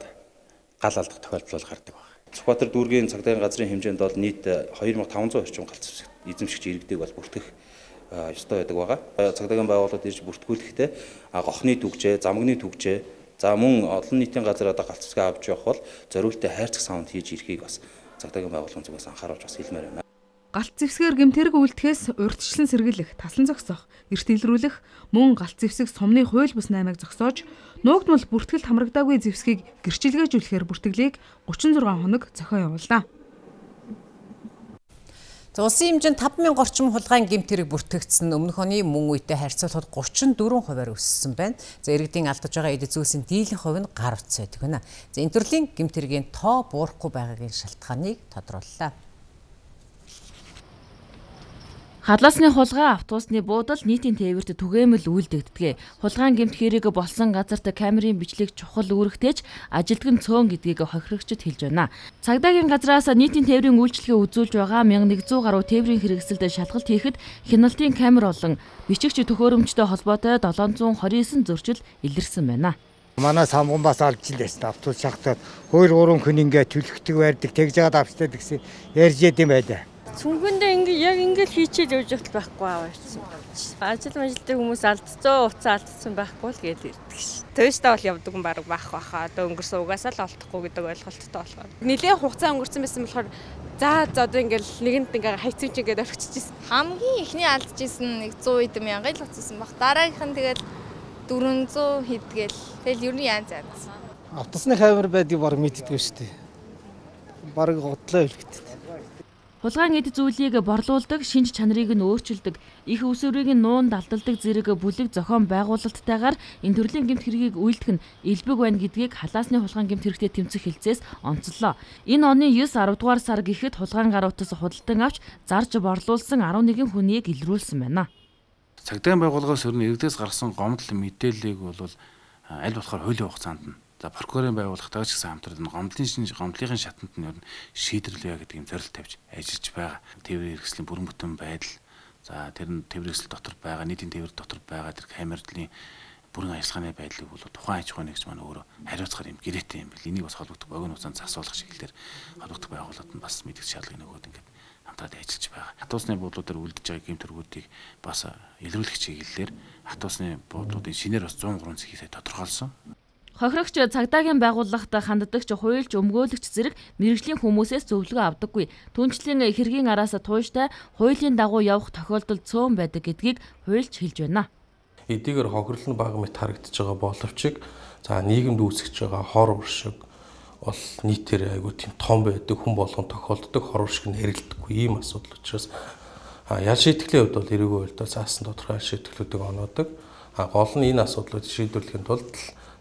[SPEAKER 6] гал алдах тохиолдол гардаг байна.
[SPEAKER 8] Сүхбаатар дүүргийн цагдаагийн газрын хэмжээнд бол нийт 2500 орчим галт зэвсэг эзэмшигч иргэдэг бол бүртгэх ёстой байдаг байгаа. Цагдаагийн байгууллагууд ирж бүртгүүлэхдээ гохны түгжээ, замгны түгжээ, за мөн олон нийтийн газар одоо галт зэвсгээ авч явах бол зориултаа хайрцаг саунд хийж ирэхийг бас цагдаагийн байгууллагын зүгээс анхааруулж бас хэлмээр байна.
[SPEAKER 5] Галт зэвсгээр гэмтэрэг үлдэхээс урьдчилан сэргийлэх, таслан зогсоох, эрт илрүүлэх, мөн галт зэвсэг сумны хууль бус 8-ыг зогсоож, нуугдмал бүртгэлд хамрагдаагүй зэвсгийг гэрчилгээжүүлэхээр бүртгэлийг 36 хоног зохион явууллаа.
[SPEAKER 1] За улсын хэмжээнд 5000 орчим хулгайн гэмтэрэг бүртгэгдсэн өмнөх оны мөн үетэй харьцуулахад 34% өссөн байна. За иргэдийн алдаж байгаа эд зүйлсийн дийлэн хувь нь гар утас байдаг байна. За энэ төрлийн гэмтэргийн тоо буурахгүй байгаагийн шалтгааныг тодрууллаа.
[SPEAKER 23] Хадлаасны хулгай, автобусны буудал нийтийн тээвэрт түгээмэл үйлдэгддэг. Хулгайн гэмт хэрэг болсон газарт камерын бичлэг чухал үүрэгтэйч ажилтг нь цөөн гэдгийг хохирогчд хэлж байна. Цагдаагийн газраас нийтийн тээврийн үйлчлэгээ үзүүлж байгаа 1100 гаруй тээврийн хэрэгсэлд шалгалт хийхэд хяналтын камер болон бичигч төхөөрөмжтэй холбоотой 729 зөрчил илэрсэн байна.
[SPEAKER 16] Манай самган бас алж илсэн автобус шахтаад 2-3 хүн ингээд төлөхдөг байрдаг тэгж жаад авчтай гэсэн ярьж яд юм байлаа.
[SPEAKER 11] Цүнхэндээ яг ингэж хийчихэл явж байгаа байхгүй аваарсан. Ажил хүмүүс алдцсан, уцаа алдсан байхгүй л гээд ирдэг ш. Төвштэй бол явдаг юм баг баха. Одоо өнгөрсөн угаасаа л олдохгүй гэдэг ойлголттой болохоор. Нэлээд хугацаа өнгөрсөн байсан болохоор за одоо ингээл нэгэнд ингээ хайцсан ч ингээд орчихчихсэн.
[SPEAKER 26] Хамгийн ихний алдчихсан нэг 100 эд мянган л уцсан баг. Дараагийнх нь тэгэл 400 хэдгээл. Тэгэл ер нь янз янз.
[SPEAKER 22] Автобусны камер байдгийг баг мэддэггүй шүү дээ. Баг готлоо хэлэхтэй.
[SPEAKER 23] Хулгайн эд зүйлийг борлуулдаг, шинж чанарыг нь өөрчилдөг, их усүрийг нь нуун далдалдаг зэрэг бүлэг зохион байгуулалттайгаар энэ төрлийн гэмт хэргийг үйлдэх нь элбэг байна гэдгийг халаасны хулгайн гэмт хэрэгтэй тэмцэх хилцээс онцлоо. Энэ оны 9-10 дугаар сар гэхэд хулгайн гар утас худалдан авч зарж борлуулсан 11 хүнийг илрүүлсэн байна.
[SPEAKER 27] Цагдаагийн байгууллагаас өрнө иргэдээс гарсан гомдол мэдээллийг бол аль болохоор хуулийн хугацаанд нь за прокурорын байгууллагатай ч гэсэн хамтраад гомдлын шатанд нь шийдвэрлэе гэдэг юм зорилт тавьж ажиллаж байгаа. Тээврийн хэрэгслийн бүрэн бүтэн байдал, за тэр нь тээврийн хэрэгсэл дотор байгаа, нийтийн тээвэр дотор байгаа тэр камерын бүрэн ажиллагааны байдлыг бол тухайн аж ахуйн нэгж маань өөрөө хариуцахаар юм гэрээтэй юм бэл. Энийг бас холбогдох богино хугацаанд засуулах чиглэлээр холбогдох байгууллагууд нь бас мэдгэл шаардлагын нөгөөд ингээд хамтраад ажиллаж байгаа. Автобусны буудлуудаар үлдэж байгаа гэмтэргүүдийг бас илрүүлэх чиглэлээр автобусны буудлуудын шинээр бас 103 цэхийг тодорхойлсон.
[SPEAKER 23] Хохирогч цагдаагийн байгууллагад ханддагч хуульч өмгөөлөгч зэрэг мэрэгжлийн хүмүүсээс зөвлөгөө авдаггүй. Түнчлэн хэргийн араас тууштай хуулийн дагуу явах тохиолдол цөөн байдаг гэдгийг хуульч хэлж байна.
[SPEAKER 7] Эдгээр хохирлон бага мэт харагдаж байгаа боловч за нийгэмд үүсгэж байгаа хор уршиг бол нийтээр айгүй тийм том байдаг, хүн болгон тохиолддог хор уршиг нь хэрэлдэхгүй ийм асуудал учраас ял шийтгэлийн хувьд бол эрүүгийн хуульд заасан тодорхой ял шийтгэлүүдийг оноодог. Гол нь энэ асуудлыг шийдвэрлэхийн тулд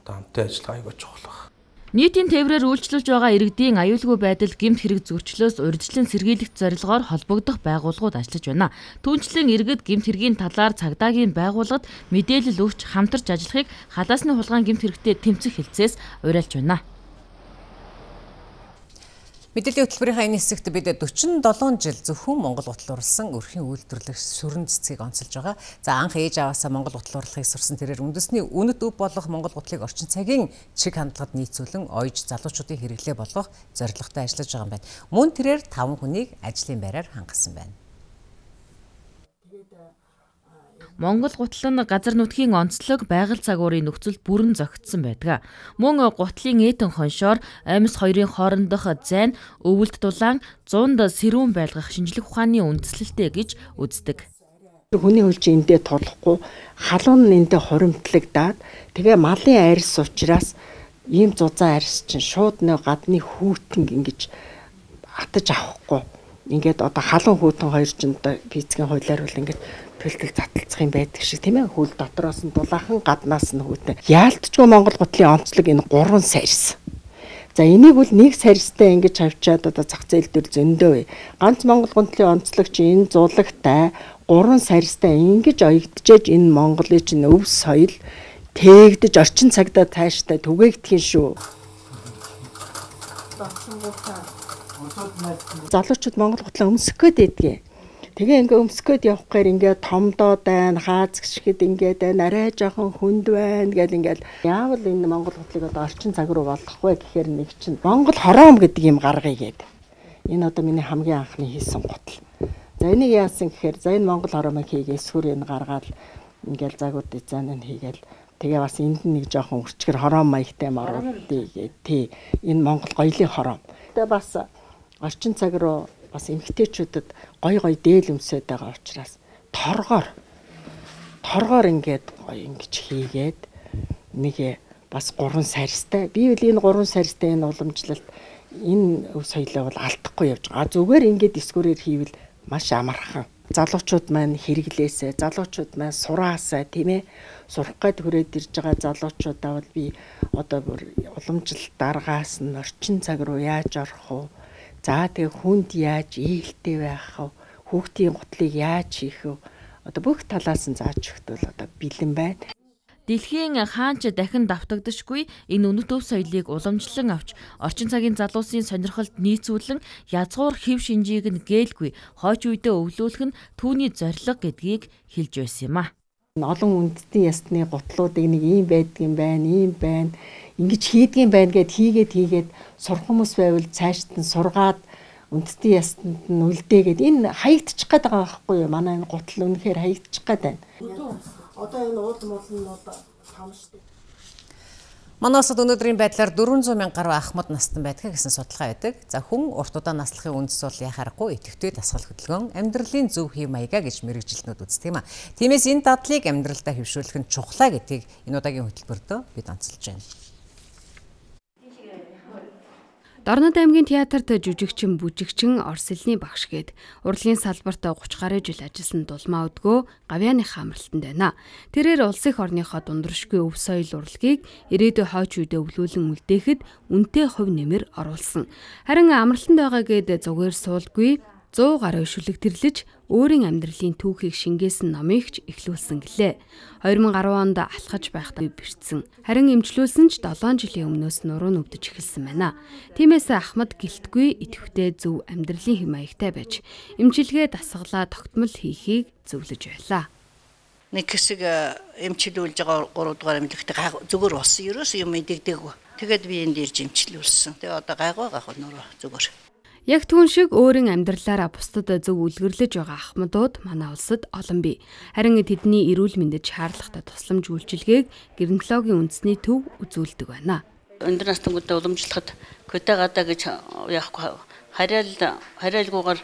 [SPEAKER 7] хамтын ажиллагаа айгүй чухал байна.
[SPEAKER 23] Нийтийн тээврээр үйлчлүүлж байгаа иргэдийн аюулгүй байдал гэмт хэрэг зөрчлөөс урьдчилан сэргийлэх зорилгоор холбогдох байгууллагууд ажиллаж байна. Түүнчлэн иргэд гэмт хэргийн талаар цагдаагийн байгууллагад мэдээлэл өгч хамтарч ажиллахыг халаасны хулгайн гэмт хэрэгтээ тэмцэх хэлцээс уриалж байна.
[SPEAKER 1] Мэдээллийн хөтөлбөрийнхаа энэ хэсэгт бид 47 жил зөвхөн Монгол гутал урлсан өрхийн үйлдвэрлэх шүрэн цэцгийг онцолж байгаа. За анх ээж аваасаа Монгол гутал урлахыг сурсан тэрээр үндэсний үнэт өв болох Монгол гутлыг орчин цагийн чиг хандлагад нийцүүлэн ойж залуучуудын хэрэглээ болгох зорилготой ажиллаж байгаа юм байна. Мөн тэрээр 5 хүнийг ажлын байраар хангасан байна.
[SPEAKER 23] Монгол гутал нь газар нутгийн онцлог байгаль цагуурын нөхцөлд бүрэн зохицсон байдаг. Мөн гутлын ээдэн хоншоор амьс хоёрын хоорондох зайн өвөлд дулаан 100-д сэрүүн байлгах шинжлэх ухааны үндэслэлтэй гэж үздэг.
[SPEAKER 10] Хүний хөлж эндээ толохгүй халуун нь эндээ хуримтлагдаад тэгээ малын арьс учраас ийм зузаан арьс чинь шууд нэг гадны хүүтэн ингэж атаж авахгүй. Ингээд одоо халуун хүүтэн хоёр чинь одоо физикийн хуулиар бол ингээд төлдөг затлцах юм байдаг шиг тийм ээ. Хөл дотроос нь дулаахан гаднаас нь хүүтэн. Яалтчгүй Монгол гутлын онцлог энэ 3 сарьс. За энийг бол нэг сарьстай ингэж авчиад одоо зах зээл дээр зөндөө. Ганц Монгол гутлын онцлог чи энэ зулагтай 3 сарьстай ингэж оёгдчихэж энэ Монголын чинь өв соёл тээгдэж орчин цагдаа тааштай түгээгдэх юм шүү. Залуучууд Монгол гутлаа өмсөх гээд байдгийг. Тэгээ ингээ өмсгөөд явах гээр ингээ томдоод байна, хаазгшгэд ингээд байна, арай жоохон хүнд байна гэл ингээл яавал энэ Монгол гутлыг одоо орчин цаг руу болгох вэ гэхээр нэг чинь Монгол хороом гэдэг юм гаргая гээд. Энэ одоо миний хамгийн анхны хийсэн гутал. За энийг яасан гэхээр за энэ Монгол хороомыг хийгээ эсвэр энэ гаргаад ингээл загвар дизайн нь хийгээл тэгээ бас энд нэг жоохон үрчгэр хороом маягтай маруулдээ гээд тий энэ Монгол гоёлын хороом. Тэгээ бас орчин цаг руу бас эмэгтэйчүүдэд гой дээл өмсөд байгаа учраас торгоор ингээд гоё ингэж хийгээд нэг бас 3 сарьстай би үл энэ 3 сарьстай энэ уламжлалт энэ өв соёлоо бол алдахгүй явж байгаа. Зүгээр ингээд дискурээр хийвэл маш амархан. Залуучууд маань хэрэглээсээ, залуучууд маань сураасаа тийм ээ сурах гээд хүрээд ирж байгаа залуучуудаа бол би одоо бүр уламжлалт даргаас нь орчин цаг руу яаж орох вэ? За тэгээ хүнд яаж ээлтэй байх вэ? Хүүхдийн гутлыг яаж хийх вэ? Одоо бүх талаас нь зааж өгтөл одоо бэлэн байна.
[SPEAKER 23] Дэлхийн хаанч дахин давтагдашгүй энэ үнэт өв соёлыг уламжлан авч орчин цагийн залуусын сонирхолд нийцүүлэн язгуур хэв шинжийг нь гээгүй хойч үедээ өвлүүлэх нь түүний зорилго гэдгийг хэлж байсан юм а.
[SPEAKER 10] Олон үндэстэн ясны гутлуудыг нэг ийм байдгийн байна, ийм байна. Ингэж хийдгийм байна гэд хийгээд сурах хүмүүс байвал цаашд нь сургаад үндэстэн ясанд нь үлдээгээд энэ хаягдчих гээд байгаа байхгүй юу? Манай энэ гутал үнэхээр хаягдчих гээд байна. Одоо энэ уулын нь бол том шүү дээ.
[SPEAKER 1] Манай улсад өнөөдрийн байдлаар 400 мянга гаруй ахмад настан байдаг гэсэн судалгаа байдаг. За хүн урт удаан наслахын үндэс бол яхаарахгүй идэвхтэй дасгал хөдөлгөөн, амьдралын зөв хэв маягаа гэж мэрэгжилтнүүд үздэг юм а. Тиймээс энэ дадлыг амьдралдаа хэвшүүлэх нь чухлаа гэдгийг энэ удаагийн хөтөлбөртөө бид онцолж байна.
[SPEAKER 2] Дорнод аймгийн театрт жүжигчин, бүжигчин, орсэлний багш гээд урлагийн салбарт 30 гаруй жил ажилласан Дулмаа Өдгөө Гавьяаныхаа амралтанд байна. Тэрээр улс их орныхоо дундуршгүй өв соёл урлагийг ирээдүйн хойч үедээ өвлүүлэн үлдээхэд үнэтэй хувь нэмэр оруулсан. Харин амралтанд байгаа гээд зүгээр суулгүй 100 гаруй шүлэг тэрлэж өөрийн амьдралын түүхийг шингээсэн номыг ч эхлүүлсэн гэлээ. 2010 онд алхаж байхдаа бэртсэн. Харин эмчлүүлсэн ч 7 жилийн өмнөөс нуруу нүвдэж эхэлсэн байна. Тиймээс Ахмад гэлтгүй идэвхтэй зөв амьдралын хэм маягтай байж эмчилгээ дасгалаа тогтмол хийхийг зөвлөж байлаа.
[SPEAKER 12] Нэг хэсэг эмчилүүлж байгаа 3 дугаар эмнэлэгтээ зүгээр болсон. Ерөөс юм мэдэгдэггүй. Тэгээд би энд ирж эмчилүүлсэн. Тэгээ одоо гайгүй нуруу зүгээр.
[SPEAKER 2] Яг түүн шиг өөрийн амьдралаараа бусдад зөв үлгэрлэж байгаа ахмадууд манай улсад олон бий. Харин тэдний эрүүл мэндэд шаардлагатай тусламж үйлчилгээг гинекологийн үндэсний төв үзүүлдэг байна.
[SPEAKER 12] Өндөр настангуудаа уламжлахад квотагада гэж яахгүй хараалгүйгээр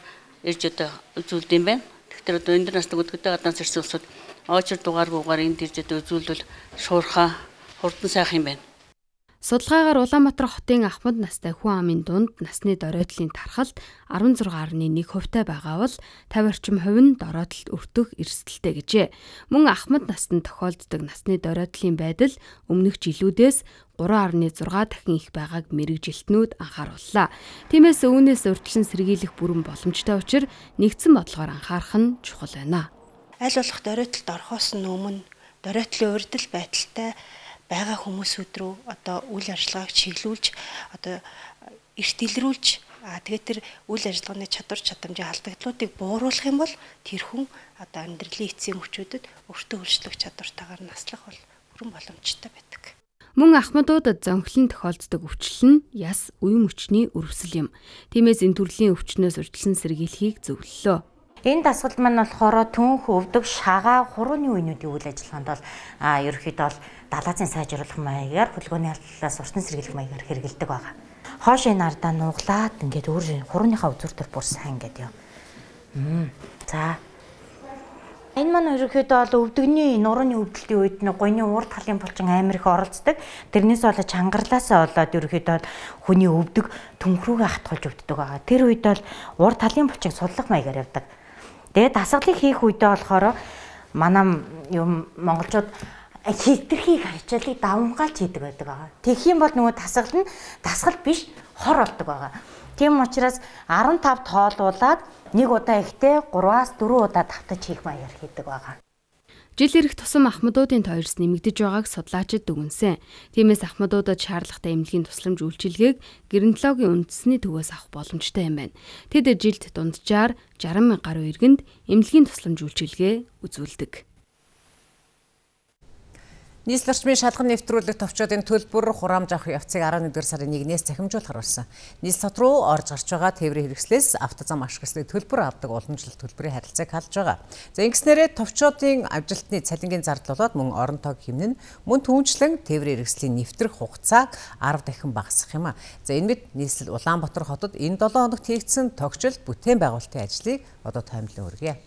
[SPEAKER 12] ирж одоо үзүүлдэг юм байна. Тэгэхээр одоо өндөр настангууд квотагадаас ирсэн улсууд
[SPEAKER 9] очир дугааргүйгээр энд ирж үзүүлвэл шуурхаа хурдан сайх юм байна.
[SPEAKER 2] Судалгаагаар Улаанбаатар хотын Ахмад настай хүн амын дунд насны доройтлын тархалт 16.1% байгаа бол 50 орчим хувь нь доройтлолд өртөх эрсдэлтэй гэжээ. Мөн Ахмад настанд тохиолддог насны доройтлын байдал өмнөх жилүүдээс 3.6 дахин их байгааг мэрэгжилтнүүд анхаарууллаа. Тиймээс үүнээс урьдчилан сэргийлэх бүрэн боломжтой учраас нэгдсэн бодлогоор анхаарах нь чухал байна.
[SPEAKER 14] Аль болох доройтолд орохоос өмнө доройтлын урьдчил байдалтай байгаа хүмүүсүүд рүү одоо үйл ажиллагааг чиглүүлж одоо эрт илрүүлж тэгээд тэр үйл ажиллагааны чадвар чадамжийн алдагдлуудыг бууруулах юм бол тэр хүн одоо амьдралын эцсийн хүчүүдэд өөртөө өөрчлөх чадвартайгаар наслах бол бүрэн боломжтой байдаг.
[SPEAKER 2] Мөн Ахмадуудад зөнхлөн тохиолддог өвчлөл нь яс үеийн өвчний өрөвсөл юм. Тиймээс энэ төрлийн өвчнөөс урьдчилан сэргийлэхийг зөвлөлөө.
[SPEAKER 15] Энэ дасгалд маань болохоор түнх өвдөг шагаа хурууны үеийнүүдийн үйл ажиллагаанд бол ерөнхийдөө бол далаацын сайжруулах маягаар хөдөлгөөний алдлаас урьдчилан сэргийлэх маягаар хэрэгэлдэг байгаа. Хоошийн ардаа нуглаад ингээд өөр хурууныхаа үзүүр төр бүр сайн ингээд юм. За. Энэ маань ерөнхийдөө бол өвдөгний нурууны өвдөлтийн үед гойны урд талын булчин амар их оролцдог. Тэрнээс болоод чангарлаасаа болоод ерөнхийдөө хүний өвдөг түнхрүүгээ хатгуулж өвддөг байгаа. Тэр үед бол урд талын булчин судлах маягаар явдаг. Тэгээд дасгалыг хийх үедээ болохоор манай юм монголчууд хитрхийг харьцаалыг давмгаалж хийдэг байдаг байгаа. Тэгэх юм бол нөгөө дасгал нь дасгал биш хор болдог байгаа. Тийм учраас 15 тоолуулаад нэг удаа ихтэй 3-аас 4 удаа давтаж хийх маягаар хийдэг байгаа.
[SPEAKER 2] Жил ирэх тусам Ахмадуудын тойрос нэмэгдэж байгааг судлаачид дүгнсэн. Тиймээс Ахмадуудад шаардлагатай эмнэлгийн тусламж үйлчилгээг геронтологийн үндэсний төвөөс авах боломжтой юм байна. Тэд жилд дунджаар 60,000 гаруй иргэнд эмнэлгийн тусламж үйлчилгээ үзүүлдэг.
[SPEAKER 1] Нийслэл орчмын шалган нэвтрүүлэх товчоодын төлбөр хураамж авах явцыг 11-р сарын 1-ээс захимжуулахар болсон. Нийслэл хот руу орж гарч байгаа тээврийн хэрэгслээс автозам ашиглалтыг төлбөр авдаг уламжлалт төлбөрийн харилцааг халж байгаа. За ингэснээрээ товчоодын авжилтны цалингийн зардал болоод мөн орон тоог хэмнэн мөн түүнчлэн тээврийн хэрэгслийн нэвтрэх хугацааг 10 дахин багасгах юм а. За энэ мэд нийслэл Улаанбаатар хотод энэ 7 хоногт хийгдсэн тогтчил бүтээн байгуулалтын ажлыг одоо таймлан хүргье.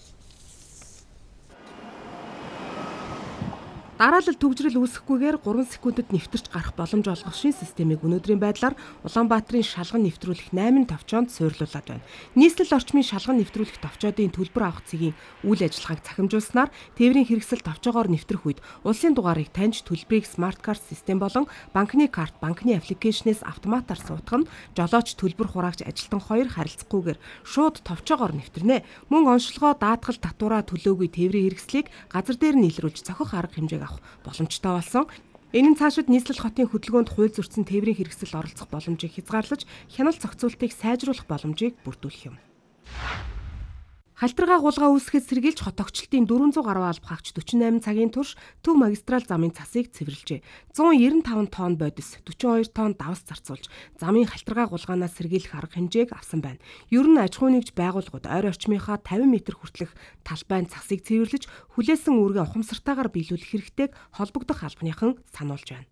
[SPEAKER 5] Дараалал төгжрөл үүсэхгүйгээр 3 секундэд нэвтэрч гарах боломж олгох шин системийг өнөөдрийн байдлаар Улаанбаатарын шалган нэвтрүүлэх 8 товчоонд суйрлуулад байна. Нийслэл орчмын шалган нэвтрүүлэх товчоодын төлбөр авах цэгийн үйл ажиллагааг цахимжуулснаар тээврийн хэрэгсэл товчоогоор нэвтрэх үед улсын дугаарыг таньж төлбөрийг смарт карт систем болон банкны карт, банкны аппликейшнээс автоматар суутгах нь жолооч төлбөр хураагч ажилтан хоёр харилцахгүйгээр шууд товчоогоор нэвтрэнэ. Мөн онцлогоо даатгал татвараа төлөөгүй тээврийн хэрэгслийг газар дээр нь илрүүлж цохих арга хэмжээг боломжтой болсон. Энэ нь цаашид нийслэл хотын хөдөлгөөнд хууль зөрчсөн тээврийн хэрэгсэл оролцох боломжийг хязгаарлаж хяналт зохицуултыг сайжруулах боломжийг бүрдүүлэх юм. Халтаргаа гулгаа үүсгэхэд сэргийлж хот огчлтын 400 гаруй алба хаагч 48 цагийн турш Төв магистрал замын цасыг цэвэрлжээ. 195 тонн бодис, 42 тонн давс зарцуулж замын халтаргаа гулгаанаас сэргийлэх арга хэмжээг авсан байна. Ер нь аж ахуй нэгж байгууллагууд ойр орчмынхаа 50 м хүртэлх талбайн цасыг цэвэрлэж хүлээсэн үүргээ ухамсартайгаар биелүүлэх хэрэгтэйг холбогдох албаныхан сануулж байна.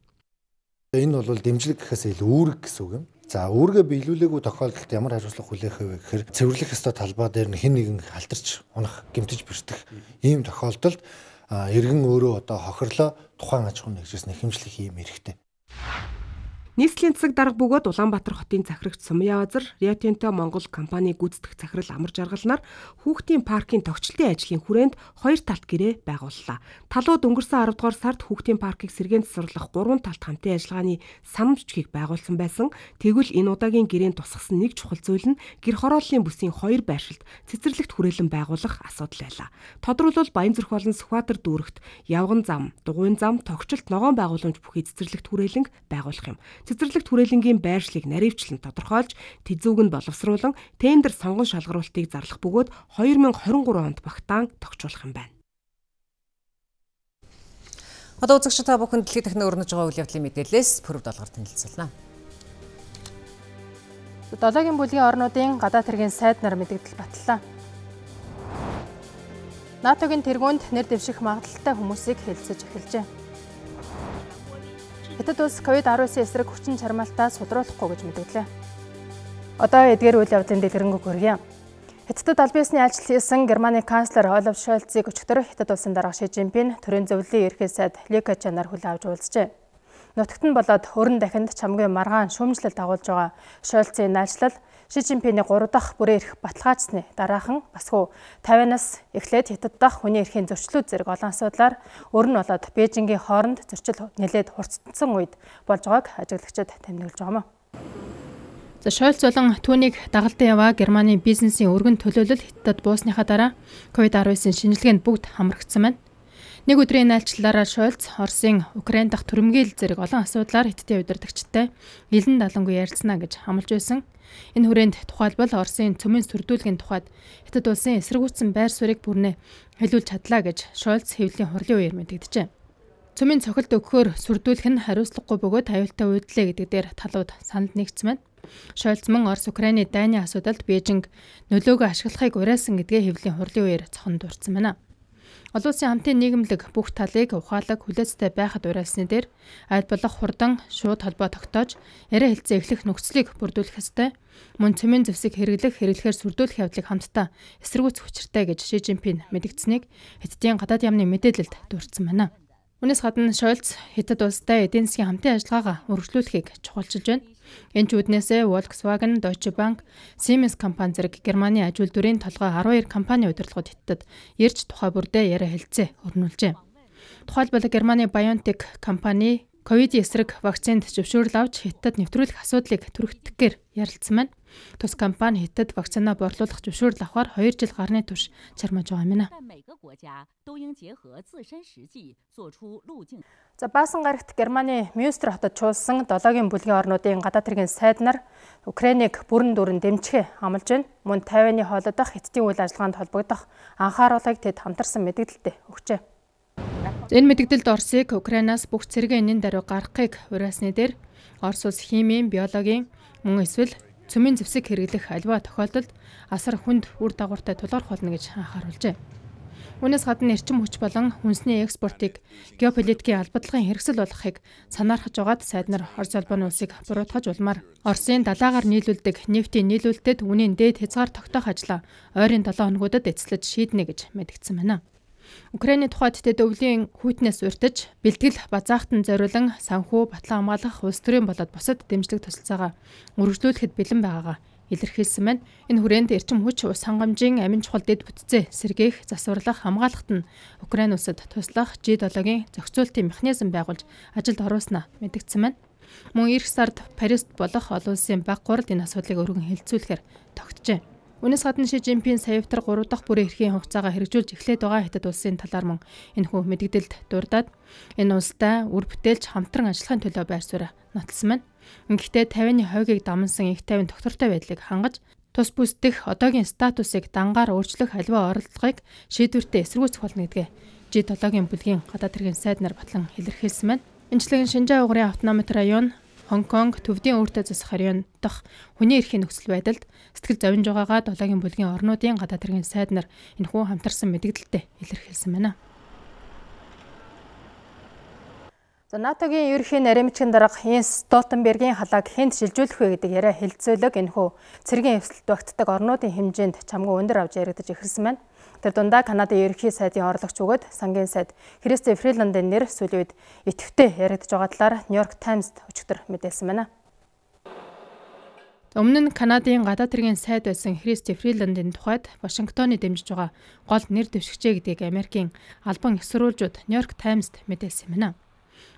[SPEAKER 17] Энэ бол дэмжлэг гэхээс илүү үүрэг гэсэн үг юм. За үүргээ биелүүлээгүй тохиолдолд ямар хариуцлага хүлээх вэ гэхээр цэвэрлэх ёстой талбай дээр хэн нэгэн халтарч унах, гэмтэж бэртэх ийм тохиолдолд иргэн өөрөө одоо хохирлоо тухайн аж ахуйн нэгжээс нэхэмжлэх ийм эрхтэй.
[SPEAKER 5] Нийслэлийн засаг дарга бөгөөд Улаанбаатар хотын захирагч Сумья Базар, Rio Tinto Монгол компани гүйцэтгэх захирал Амар Жаргалнаар хүүхдийн паркын тогтчлтын ажлын хүрээнд хоёр талт гэрээ байгууллаа. Талууд өнгөрсөн 10 дугаар сард хүүхдийн паркыг сэргээн засварлах 3 талт хамтын ажиллагааны санамж бичгийг байгуулсан байсан. Тэгвэл энэ удаагийн гэрээнд тусгасан нэг чухал зүйл нь гэр хорооллын бүсийн хоёр байршилд цэцэрлэгт хүрээлэн байгуулах асуудал байлаа. Тодорхойлбол Баянзүрх болон Сүхбаатар дүүрэгт явган зам, дугуйн зам, тогтчлт ногоон байгууламж бүхий цэцэрлэгт хүрээлэн байгуулах юм. Цэцэрлэгт хүрээлэнгийн байршлыг наривчлан тодорхойлж тэзүүг нь боловсруулан тендер сонгон шалгаруултыг зарлах бөгөөд 2023 онд багтаан тогтчуулах юм байна.
[SPEAKER 1] Одоо үзэгчид та бүхэн дэлхийн дахин өрнөж байгаа үйл явдлын мэдээлэлээс пүрэв долгоор танилцуулна.
[SPEAKER 18] Долоогийн бүлгийн орнуудын гадаад хэргийн сайд нар мэдээлэл батллаа. НАТОгийн тэргуунд нэр дэвших магадлалтай хүмүүсийг хэлэлцэж эхэлжээ. Хятад улс COVID-19 эсрэг хүчин чармаалтаа судруулахгүй гэж мэдээлээ. Одоо эдгээр үйл явдлын дэлгэрэнгүй хүргье. Хятадд албан ёсны ажил хийсэн Германы канцлер Олаф Шольцыг өчигдөр Хятад улсын дарга Ши Жинпин төрийн зөвлөлийн ерхий сайд Ли Кэчанаар хүлээн авч уулзжээ. Нутагт нь болоод хөрөн дахинд чамгийн маргаан шүүмжлэл дагуулж байгаа Шольцын наажлал Ши Жинпиний 3 дахь бүрэн эрх баталгаажсны дараахан басгүй 50-аас эхлээд Хятад дахь хүний эрхийн зөрчлүүд зэрэг олон асуудлаар өрн болоод Бээжингийн хооронд зөрчил нэлээд хурцсан үед болж байгааг ажиглагчид тэмдэглэж байгаа юм. За Шольц болон түүнийг дагалдан яваа Германы бизнесийн өргөн төлөөлөл Хятадд буусныхаа дараа COVID-19 шинжилгээнд бүгд хамрагдсан байна. Нэг өдрийн найлчлалаараа Шольц Оросын Украин дахь түрэмгийл зэрэг олон асуудлаар Хятадын удирдагчтай илэн далангүй ярилцсана гэж хамлаж байсан. Энэ хүрээнд тухайлбал Оросын цөмийн сүрдүүлгийн тухайд Хятад улсын эсэргүүцсэн байр суурийг бүрнээ хэлүүлж чадлаа гэж Шольц хэвлэлийн хурлын үеэр мэдэгджээ. Цөмийн цохилт өгөхөөр сүрдүүлэх нь хариуцлагагүй бөгөөд аюултай үйдлээ гэдэг дээр талууд санал нэгдсэн байна. Шольц мөн Орос Украины дайны асуудалд Бээжинг нөлөөгөө ашиглахыг уриалсан гэдгээ хэвлэлийн хурлын үеэр цохон дурдсан байна. Олон улсын хамтын нийгэмлэг бүх талыг ухаалаг хүлээцтэй байхад уриалсны дээр аль болох хурдан шууд холбоо тогтоож яриа хэлцээ эхлэх нөхцөлийг бүрдүүлэх ёстой. Мөн цөмийн зэвсэг хэрэглэхээр сүрдүүлэх явдлыг хамтдаа эсэргүүцэх учиртай гэж Ши Жинпин мэдгдсэнийг Хятадын гадаад яамны мэдээлэлд дурдсан байна. Үүнээс гадна Шольц Хятад улстай эдийн засгийн хамтын ажиллагаагаа үргэлжлүүлэхийг чухалчилж байна. Энэ ч үүднээсээ Volkswagen, Deutsche Bank, Siemens компани зэрэг Германы аж үйлдвэрийн толгой 12 компани удирдлагууд Хятадд ирж тухай бүрдээ яриа хэлцээ өрнүүлжээ. Тухайлбал Германы BioNTech компани ковидын эсрэг вакцинд зөвшөөрөл авч Хятадд нэвтрүүлэх асуудлыг түргэтгэхээр ярилцсан байна. Тус компани Хятадд вакцина борлуулах зөвшөөрөл авахар 2 жил гарны турш чармааж байгаа юм. За Баасан гарагт Германы Мюнстер хотод чуулсан 7-гийн бүлгийн орнуудын гадаад хэргийн сайд нар Украиныг бүрэн дүүрэн дэмжихээ амлаж байна. Мөн Тайваны хоолой дах Хятадын үйл ажиллагаанд холбогдох анхааруулгыг тэд хамтарсан мэдээлэлд өгчээ. Энэ мэдээлэлд Оросыг Украинаас бүх цэргийн энийн даруй гаргахыг уриалсны дээр Орос улс химийн, биологийн мөн эсвэл цөмийн зэвсэг хэрэглэх аливаа тохиолдолд асар хүнд үр дагавартай тулгарх болно гэж анхааруулжээ. Үүнээс гадна эрчим хүч болон хүнсний экспортыг геополитикийн албадлагын хэрэгсэл болгохыг санаархаж байгаад сайд нар Орос улбаны улсыг буруутгаж улмаар Оросын далайгаар нийлүүлдэг нефтийн нийлүүлэлтэд үнийн дээд хязгаар тогтоох ажлаа ойрын 7 хоногудад эцэлж шийднэ гэж мэдгдсэн байна. Украины тухайд тэд өвлийн хүйтнээс урьдчилж бэлтгэл базаахтан зориулан санхүү батлан хамгаалах улс төрийн болоод бусад дэмжлэг тусалцаагаа үргэлжлүүлэхэд бэлэн байгаагаа илэрхийлсэн байна. Энэ хүрээнд эрчим хүч ус хангамжийн амин чухал дэд бүтцээ сэргээх, засварлах, хамгаалахт нь Украин улсад туслах G7-гийн зохицуултын механизм байгуулж ажилд оруулснаа мэдгдсэн байна. Мөн эх сард Парист болох олон улсын баг гуралд энэ асуудлыг өргөн хэлэлцүүлэхээр тогтжээ. Үүнээс гадна Ши Жинпин саявтар 3 дахь бүрэн эрхийн хугацаагаа хэрэгжүүлж эхлээд байгаа Хятад улсын талаар мөн энэхүү мэдээлэлд дурдаад энэ улстай үр бүтээлч хамтран ажиллахын төлөө байр сууриа нотолсон байна. Гэхдээ 50-ны хойгийг дамнсан их тайван доктортой байдлыг хангаж тус бүсдэх одоогийн статусыг дангаар өөрчлөх аливаа оролдлогыг шийдвэртээ эсэргүүцэх болно гэдгээ G7-гийн бүлгийн гадаад хэргийн сайд нар батлан илэрхийлсэн байна. Энэчлэн Шинжаа угрын автономит район Хонконг төвдийн өөртөө засах район дахь хүний эрхийн нөхцөл байдалд сэтгэл зовж байгаагаа 7-гийн бүлгийн орнуудын гадаад хэргийн сайд нар энэхүү хамтарсан мэдээлэлд илэрхийлсэн байна. За НАТОгийн ерөнхий наримчгийн дарга Йенс Столтенбергийн халааг хэнд шилжүүлэх вэ гэдэг яриа хэлэлцүүлэг энэхүү цэргийн эвсэлт багтдаг орнуудын хэмжээнд чамгүй өндөр авч яригдаж эхэлсэн байна. Тэр дундаа Канадын ерөнхий сайдын орлогч бөгөөд сангийн сайд Христи Фриландын нэр сүүлийн үед идэвхтэй яригдж байгаа талаар Нью-Йорк Таймсд өчигдөр мэдээлсэн байна. Өмнө нь Канадын гадаад хэргийн сайд байсан Христи Фриландын тухайд Вашингтоны дэмжиж байгаа гол нэр дэвшигчээ гэдгийг Америкийн албан их сурвалжууд Нью-Йорк Таймсд мэдээлсэн байна.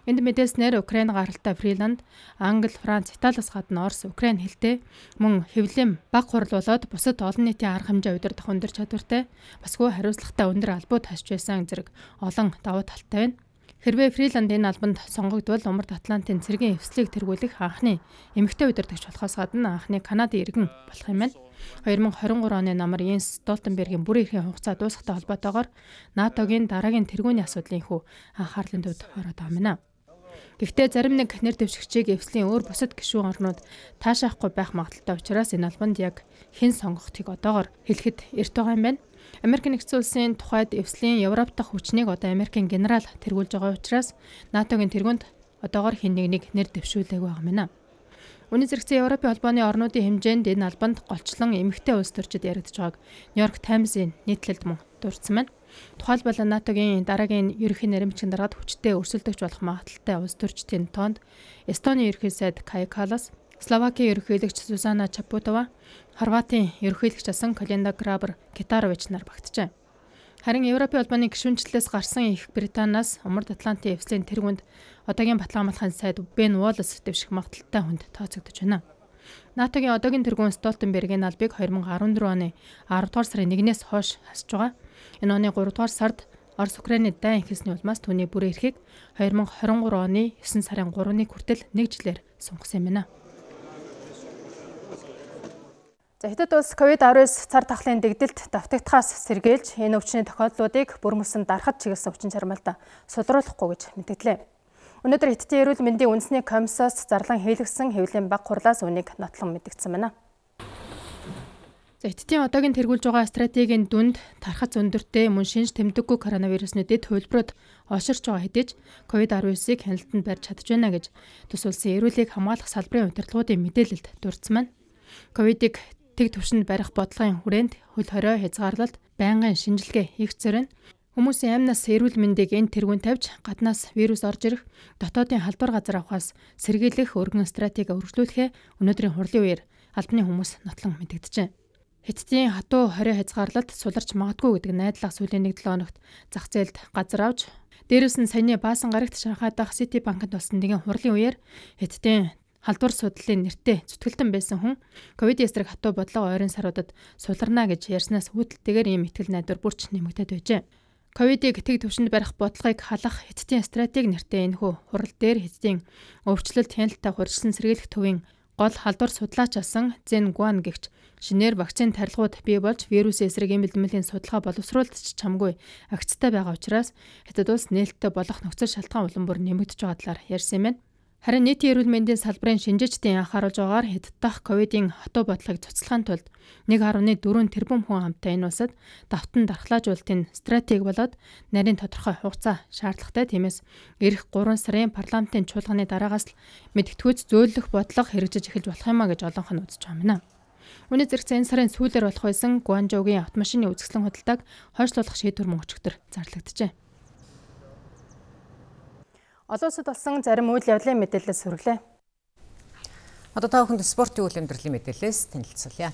[SPEAKER 18] Энд мэдээлснээр Украин гаралтай Фриланд, Англи, Франц, Италиас гадна Орос, Украин хэлтэй мөн хэвлэм баг хурал болоод бусад олон нийтийн арга хэмжээ удирдах өндөр чадвартай, басгүй хариуцлагатай өндөр албууд хасч байсан зэрэг олон давуу талтай байна. Хэрвээ Фриланд энэ албанд сонгогдвол Умард Атлантын цэргийн эвслийг тэргүүлэх анхны эмэгтэй удирдагч болохоос гадна анхны Канадын иргэн болох юм байна. 2023 оны намар Йенс Столтенбергийн бүрэн эрхийн хугацаа дуусахтай холбоотойгоор НАТОгийн дараагийн тэргүүний асуудлын хүү анхаарлын төвд ороод байгаа юм. Гэхдээ зарим нэг нэр дэвшигчийг эвслийн өөр бусад гишүүн орнууд таашаахгүй байх магадaltaй учраас энэ албанд яг хэн сонгогдохыг одоогоор хэлэхэд эрт байгаа юм байна. Америк нэгдсэн улсын тухайд эвслийн Европ дахь хүчнийг одоо Америкийн генерал тэргүүлж байгаа учраас НАТОгийн тэргүүнд одоогоор хэн нэг нэр дэвшүүлээг байгаа юм байна. Үүний зэрэгцээ Европын холбооны орнуудын хэмжээнд энэ албанд голчлон эмэгтэй улс төрчид яригдж байгааг Нью-Йорк Таймс-ийн нийтлэлд мөн дурдсан байна. Тухайлбал НАТО-гийн дараагийн ерөнхий нэрэмжийн дараад хүчтэй өрсөлдөгч болох магадaltaй улс төрчдийн тоонд Эстоны ерөнхий сайд Кая Каллас, Словакийн ерөнхийлөгч Зузана Чапутова, Хорватын ерөнхийлөгч асан Колинда Грабер-Китарович нар багтжээ. Харин Европын холбооны гишүүнчлэлээс гарсан Их Британаас Умард Атлантын эвслийн тэргуунд одоогийн Батлан хамгаалахын сайд Бен Уоллес дэвших магадaltaй хүнд тооцогдож байна. НАТО-гийн одоогийн тэргүүн Столтенбергийн албыг 2014 оны 10 дугаар сарын 1-ээс хойш хасж байгаа. Энэ оны 3 дугаар сард Орос Украины дайн ихсний улмаас түүний бүрэн эрхийг 2023 оны 9 сарын 3-ны хүртэл 1 жилээр сунгасан юм байна. За Хятад улс COVID-19 цар тахлын дэгдэлд давтагдахаас сэргийлж энэ өвчний тохиолдлуудыг бүрмөсөн дарахад чиглэсэн өвчин чармаалт сулруулахгүй гэж мэдгдлээ. Өнөөдөр Хятадын эрүүл мэндийн үндэсний комиссаас зарлан хийлгэсэн хэвлэлийн баг хурлаас үнийг нотлон мэдгдсэн байна. Хятадын одоогийн тэргүүлж байгаа стратегийн дүнд тархац өндөртэй мөн шинж тэмдэггүй коронавирусны дэд хөлбөрөд олширч байгаа хэдий ч COVID-19-ийг хяналтанд барьж чадж байна гэж тус улсын эрүүлгийг хамгаалах салбарын удирдлагуудын мэдээлэлд дурдсан байна. Ковидыг тэг түвшинд барих бодлогын хүрээнд хөл хорио хязгаарлалт, байнгын шинжилгээ хийх зорино хүмүүсийн амнаас эрүүл мэндийг энэ тэргүүнд тавьж гаднаас вирус орж ирэх, дотоодын халдвар газар авахаас сэргийлэх өргөн стратеги өргөжлүүлэхээ өнөөдрийн хурлын үеэр албаны хүмүүс нотлон мэдэгдэжээ. Хятадын хатуу хорио хязгаарлалт суларч магадгүй гэдэг найдлага сүүлийн 1-7 хоногт зах зээлд газар авч, дээрээс нь саяны баасан гарагт Шанхай дахь Сити банкнд болсон нэгэн хурлын үеэр Хятадын халдвар судлалын нэртэй зүтгэлтэн байсан хүн ковид эсрэг хатуу бодлого ойрын саруудад суларна гэж ярьснаас үүдэлтэйгээр ийм итгэл найдвар бүрч нэмэгдээд байжээ. Ковидыг тэг түвшинд барих бодлогыг халах Хятадын стратеги нэртэй энэхүү хурал дээр Хятадын өвчлөлт хяналттай хурцлан сэргийлэх төвийн гол халдвар судлаач асан Зэн Гуан гэгч шинээр вакцины тарилгууд бий болж вирусын эсрэг эм бэлтгэлийн судалгаа боловсруулалт чамгүй агцтай байгаа учраас Хятад улс нээлттэй болох нөхцөл шалтгаан улам бүр нэмэгдэж байгаа талаар ярьсан юм байна. Харин нийтийн эрүүл мэндийн салбарын шинжээчдийн анхааруулж байгаагаар Хятад дахь ковидын хатуу бодлогыг цуцлахын тулд 1.4 тэрбум хүн амтай энэ улсад давтан дархлаажуулалтын стратеги болоод нарийн тодорхой хугацаа шаардлагатай. Тиймээс эх 3 сарын парламентын чуулганы дараагаас л мэдгэдэггүйц зөөлөх бодлого хэрэгжиж эхэлж болох юмаа гэж олонх нь үзэж байгаа юм. Үүний зэрэгцээ энэ сарын сүүлээр болох байсан Гуанчжоугийн автомашины үзэсгэлэн худалдааг хойшлуулах шийдвэр мөн өчигдөр зарлагджээ. Олон улсад болсон зарим үйл явдлын мэдээлэлээс хүргэлээ.
[SPEAKER 1] Одоо та бүхэнд спортын үйл амьдралын мэдээлэлээс танилцуулъя.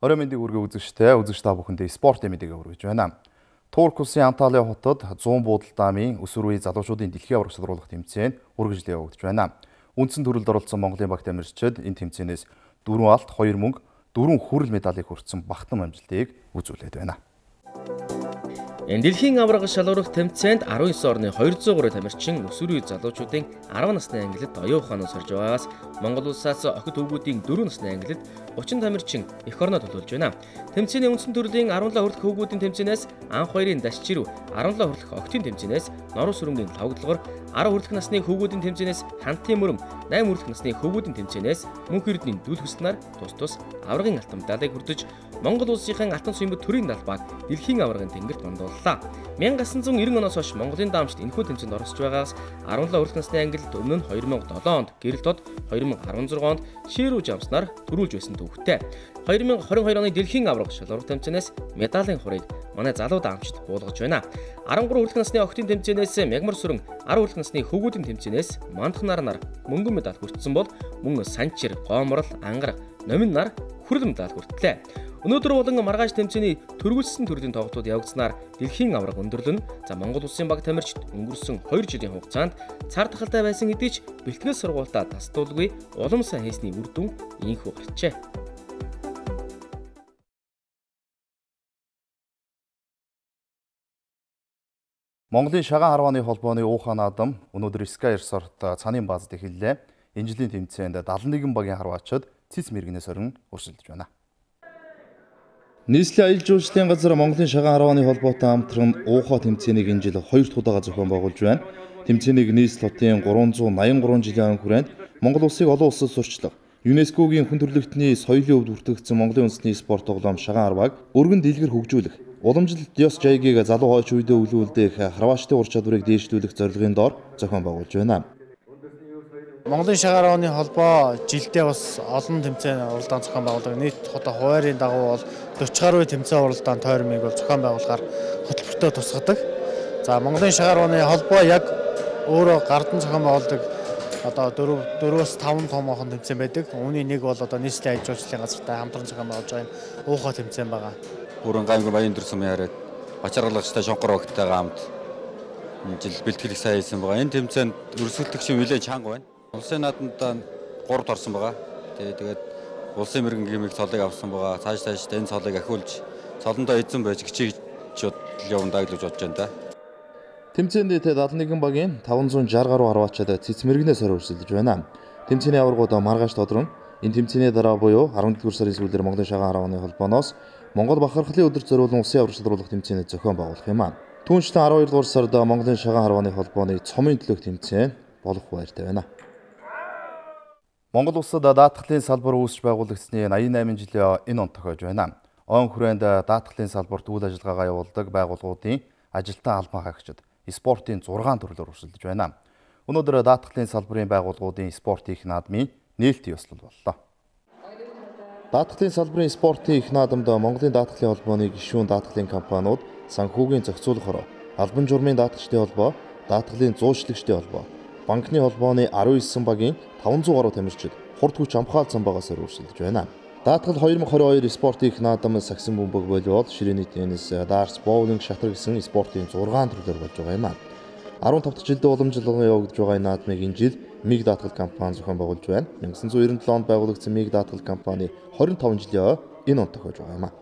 [SPEAKER 3] Орой мэндийг хүргэе үзэгч та бүхэндээ спортын мэдээлэл хүргэж байна. Турк улсын Анталия хотод 100 буудал даамын өсвөр үеийн залуучуудын дэлхийн аварга шалруулах тэмцээн үргэлжлэн явагдаж байна. Үндсэн төрөлд оролцсон Монголын баг тамирчид энэ тэмцээнээс 4 алт, 2 мөнгө, 4 хүрэл медалийг хүртсэн бахтам амжилтыг үзүүлээд байна.
[SPEAKER 13] Энэ дэлхийн аварга шалгуулах тэмцээнд 19 орны 203 тамирчин өсвөр үеийн залуучуудын 10 насны ангилалд оюун ухаанаас орж байгаагаас Монгол улсаас охид хүүгүүдийн 4 насны ангилалд 30 тамирчин эх орноо төлөвлөж байна. Тэмцээний үндсэн төрлийн 17 хүртэлх хүүгүүдийн тэмцээнээс анх хоёрын дашчирв, 17 хүртэлх октын тэмцээнээс норуу сүрэнгийн лавгдлогоор, 10 хүртэлх насны хүүгүүдийн тэмцээнээс хантын мөрөм, 8 хүртэлх насны хүүгүүдийн тэмцээнээс мөнх эрдэнийн дүүл хөслнаар тус аваргын алтан медалийг хүртэж Монгол улсын алтан суймбат төрийн далбааг дэлхийн аваргын тэнгэрт мандууллаа. 1990 оноос хойш Монголын даамжид энэхүү тэмцээнд оролцож байгаагаас 17 хүртэлх насны ангилалд өмнө нь 2007 онд гэрэл тод, 2016 онд ширүү жамснаар төрүүлж байсан төвхтэй. 2022 оны дэлхийн аварга шалгуулах тэмцээнээс медалийн хурыг манай залуу даамжид буулгаж байна. 13 хүртэлх насны октын тэмцээнээс мягмар сүрэн, 10 хүртэлх насны хөвгүүдийн тэмцээнээс мандах нар мөнгөн медаль хүртсэн бол мөн санчир, гоомрол, ангар, номин нар хүрэл медаль хүртлээ. Өнөөдөр болон маргааш тэмцээний төрүүлсэн төрлийн тоглолтууд явагдсанаар дэлхийн аварга өндөрлөн Монгол улсын баг тамирчид өнгөрсөн 2 жилийн хугацаанд цар тахалтай байсан хэдий ч бэлтгэл сургуультаа тасдуулгүй улам сайн хийсний үр дүн ийхүү гарчээ.
[SPEAKER 3] Монголын шагаан харвааны холбооны Ухаан наадам өнөөдөр Sky Resort цанын баазад эхэллээ. Энэ жилийн тэмцээнд 71 багийн харваачид цэц мэргэнээс орон өрсөлдөж байна. Нийслэлийн аялал жуулчлалын газар Монголын шагаан харвааны холбоотой хамтран Ухаа тэмцээнийг энэ жил 2 дахь удаага зохион байгуулж байна. Тэмцээнийг нийслэл хотын 383 жилийн өмнө хүрээнд Монгол улсыг олон улсад сурчлах, ЮНЕСКО-гийн хүн төрөлхтний соёлын өвд бүртгэгдсэн Монголын үндэсний спорт тоглоом шагаан харвааг өргөн дэлгэр хөгжүүлэх, уламжлалт ёс жайгийг залуу хойч үедээ өвлүүлдэх харваачдын ур чадварыг дээшлүүлэх зорилгын доор зохион байгуулж байна.
[SPEAKER 4] Монголын шагаар авааны холбоо жилдээ бас олон тэмцээн уралдаан зохион байгуулдаг. Нийт одоо хуваарийн дагуу бол 40 гаруй тэмцээн уралдаан тойрмыг бол зохион байгуулахаар хөтөлбөртөө тусгадаг. За Монголын шагаар авааны холбоо яг өөрөө гардан зохион байгуулдаг одоо 4-5 томоохон тэмцээн байдаг. Үүний нэг бол одоо нийслэлийн аж жуулчлалын газартай хамтран зохион байгуулж байгаа энэ уухай тэмцээн байгаа.
[SPEAKER 6] Бүрэн гаймгүй баян дүр сумын хараад бачаргалагчтай шонхор багтайгаа хамт жил бэлтгэл их сайн хийсэн байгаа. Энэ тэмцээнд өрсөлдөгч нэлээд чанга байна. Улсын нааданд 3-д орсон байгаа. Тэгээд улсын мэрэгэн гимиг цолыг авсан байгаа. Цааш энэ цолыг ахиулж цолондоо эзэн байж гिचиж явна гэж бодож байна да.
[SPEAKER 3] Тэмцээнд 71 багийн 560 гаруй харваачаад цэцмэрэгнээс өрсөлдөж байна. Тэмцээний аваргууд маргааш тодорно. Энэ тэмцээний дараа буюу 11-р сарын сүүлээр Монголын шагаар авааны холбооноос Монгол бахархлын өдөр зориулсан улсын аврагч шалруулах тэмцээний зохион байгуулах юм аа. Түүнчлэн 12-р сард Монголын шагаар авааны холбооны цомын төлөөх тэмцээн болох байртай байна. Монгол улсад даатгалын салбар үүсч байгуулагдсны 88 жилийн энэ он тохиож байна. Он хүрээнд даатгалын салбарт үйл ажиллагаагаа явуулдаг байгууллагуудын ажилтан албан хаагчид спортын 6 төрлөөр өрсөлдөж байна. Өнөөдөр даатгалын салбарын байгууллагуудын спортын их наадмын нээлтийн ёслол боллоо. Даатгалын салбарын спортын их наадамд Монголын даатгалын холбооны гишүүн даатгалын компаниуд, санхүүгийн зохицуулахаар, албан журмын даатгачдын холбоо, даатгалын зуучлагчдын холбоо, банкны холбооны 19 багийн 500 гаруй тамирчид хурд хүч амхаалсан багаас өрсөлдөж байна. Даатгал 2022 спортын их наадам сагсан бөмбөг волейбол, ширээний теннис, дартс, боулинг, шатар гэсэн спортын 6 төрлөөр болж байгаа юм аа. 15 дахь жилдээ уламжлалгын явагдаж байгаа энэ наадмыг энэ жил МИГ даатгал компани зохион байгуулж байна. 1997 онд байгуулагдсан МИГ даатгал компани 25 жилийн энэ он тохиож байгаа юм аа.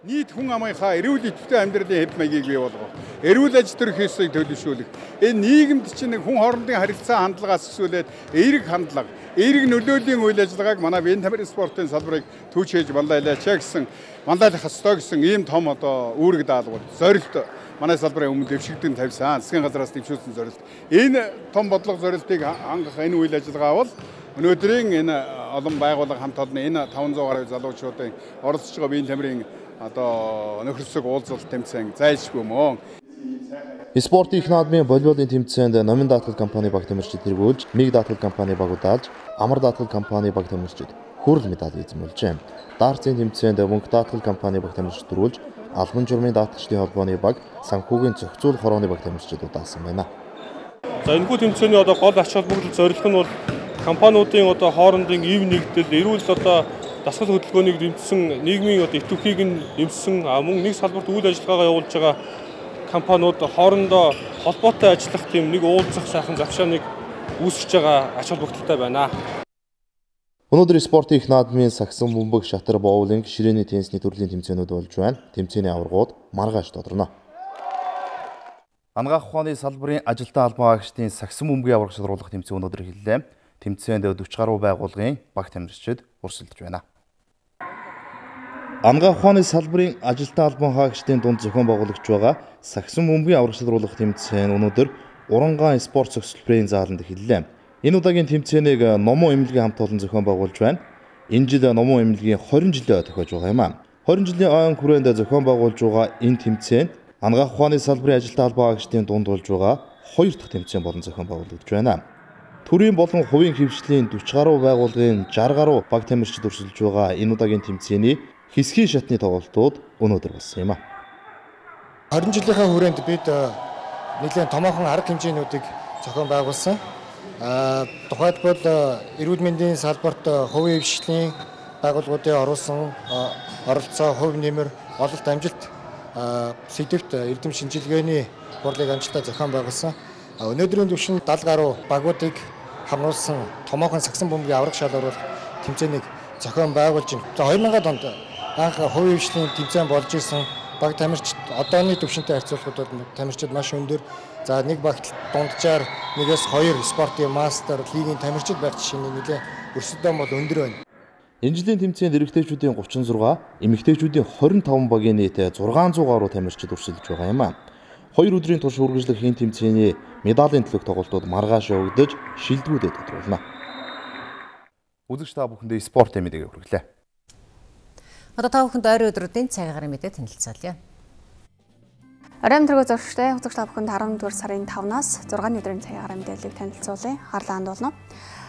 [SPEAKER 19] Нийт хүн амынхаа эрүүл идэвхтэй амьдралын хэв маягийг бий болгох, эрүүл аж төрөх ёсыг төлөвшүүлэх, энэ нийгэмд чинь хүн хоорондын харилцаа хандлагаас эхлүүлээд эерэг хандлага, эерэг нөлөөлийн үйл ажиллагааг манай биеийн тамирын спортын салбарыг түүчээж баллайлаач гэсэн манлайлах ёстой гэсэн ийм том одоо үүрэг даалгавар зорилт манай салбарын өмнө дэвшигдэн тавьсан засгийн газраас дэвшүүлсэн зорилт. Энэ том бодлого зорилтыг хангах энэ үйл ажиллагаа бол өнөөдрийн энэ олон байгууллага хамт олон энэ 500 гаруй залуучуудын оролцож байгаа биеийн тамирын одоо нөхөрсөг уулзалт тэмцээн зайлшгүй мөн.
[SPEAKER 3] Спортын их наадмын волейболын тэмцээнд Номин даатгал компани баг тамирчид тэргүүлж, МИГ даатгал компани баг удаалж, Амар даатгал компани баг тамирчид хүрэл медаль эзэмүүлжээ. Дартсын тэмцээнд Мөнх даатгал компани баг тамирчид төрүүлж, албан журмын даатгачдын холбооны баг, санхүүгийн зохицуулах хорооны баг тамирчид удаасан байна.
[SPEAKER 20] За энэхүү тэмцээний одоо гол ач холбогдол зорилго нь бол компаниудын одоо хоорондын ив нэгдэл, эрүүл одоо дасгал хөдөлгөөнийг дэмжсэн, нийгмийн одоо идэвхийг нь дэмжсэн, мөн нэг салбарт үйл ажиллагаагаа явуулж байгаа компаниуд хоорондоо холбоотой ажиллах тийм нэг уулзах сайхан завшааныг үүсгэж байгаа ач холбогдолтой байна.
[SPEAKER 3] Өнөөдөр спортын их наадмын сагсан бөмбөг, шатар, боулинг, ширээний теннисний төрлийн тэмцээнүүд болж байна. Тэмцээний аваргууд маргааш тодорно. Ангаах ухааны салбарын ажилтан албан хаагчдын сагсан бөмбөгийн аварга шалруулах тэмцээн өнөөдөр эхэллээ. Тэмцээнд 40 гаруй байгууллагын баг тамирчид өрсөлдөж байна. Ангаах ухааны салбарын ажилтан албан хаагчдын дунд зохион байгуулагч байгаа сагсан бөмбөгийн аварга шалруулах тэмцээн өнөөдөр Урангаан спорт цогцлбарын зааланд эхэллээ. Энэ удаагийн тэмцээнийг Номон эмнэлгийн хамт олон зохион байгуулж байна. Энэ жил Номон эмнэлгийн 20 жилийн тохиож байгаа юм аа. 20 жилийн ойн хүрээнд зохион байгуулж байгаа энэ тэмцээнд ангаах ухааны салбарын ажилтан албан хаагчдын дунд болж байгаа 2 дахь тэмцээн болон зохион байгуулагдж байна. Төрийн болон хувийн хөвшлийн 40 гаруй байгууллагын 60 гаруй баг тамирчид өрсөлдөж байгаа энэ удаагийн тэмцээний хэсгийн шатны тоглолтууд өнөөдөр болсон юм аа.
[SPEAKER 22] 20 жилийнхаа хүрээнд бид нэлээд томоохон арга хэмжээнүүдийг зохион байгуулсан. Тухайлбал эрүүл мэндийн салбарт хувийн хөвшлийн байгууллагуудын оруулсан оролцоо, хувь нэмэр, ололт амжилт сэдвт эрдэм шинжилгээний хурлыг амжилттай зохион байгуулсан. Өнөөдрийн түвшинд 70 гаруй багуудыг хамруулсан томоохон сагсан бөмбөгийн аварга шалруулах тэмцээнийг зохион байгуулж байна. 2000-ад онд анх хувийн хөвшлийн тэмцээн болж исэн баг тамирчид одооны түвшинтэй харьцуулахад бол тамирчид маш өндөр. За нэг багт дунджаар 1-2 спортын мастер лигийн тамирчид байх жишээний нэлээд өрсөлдөөн бол өндөр байна.
[SPEAKER 3] Энэ жилийн тэмцээнд эрэгтэйчүүдийн 36, эмэгтэйчүүдийн 25 багийн нийт 600 гаруй тамирчид өрсөлдөж байгаа юм аа. 2 өдрийн турш үргэлжлэх энэ тэмцээний медалийн төлөөх тоглолтууд маргааш явагдаж шилдэгүүдэд тодруулна. Үзэгч та бүхэндээ спортын мэдээг хүргэлээ.
[SPEAKER 1] Одоо та бүхэнд ойрын өдрүүдийн цаг агаарын мэдээ танилцуулъя.
[SPEAKER 8] Оройн төргөө зурштай үзэгч та бүхэнд 14 сарын 5-наас 6-ны өдрийн цагаар мэдээллийг танилцуулъя. Харлаанд болно.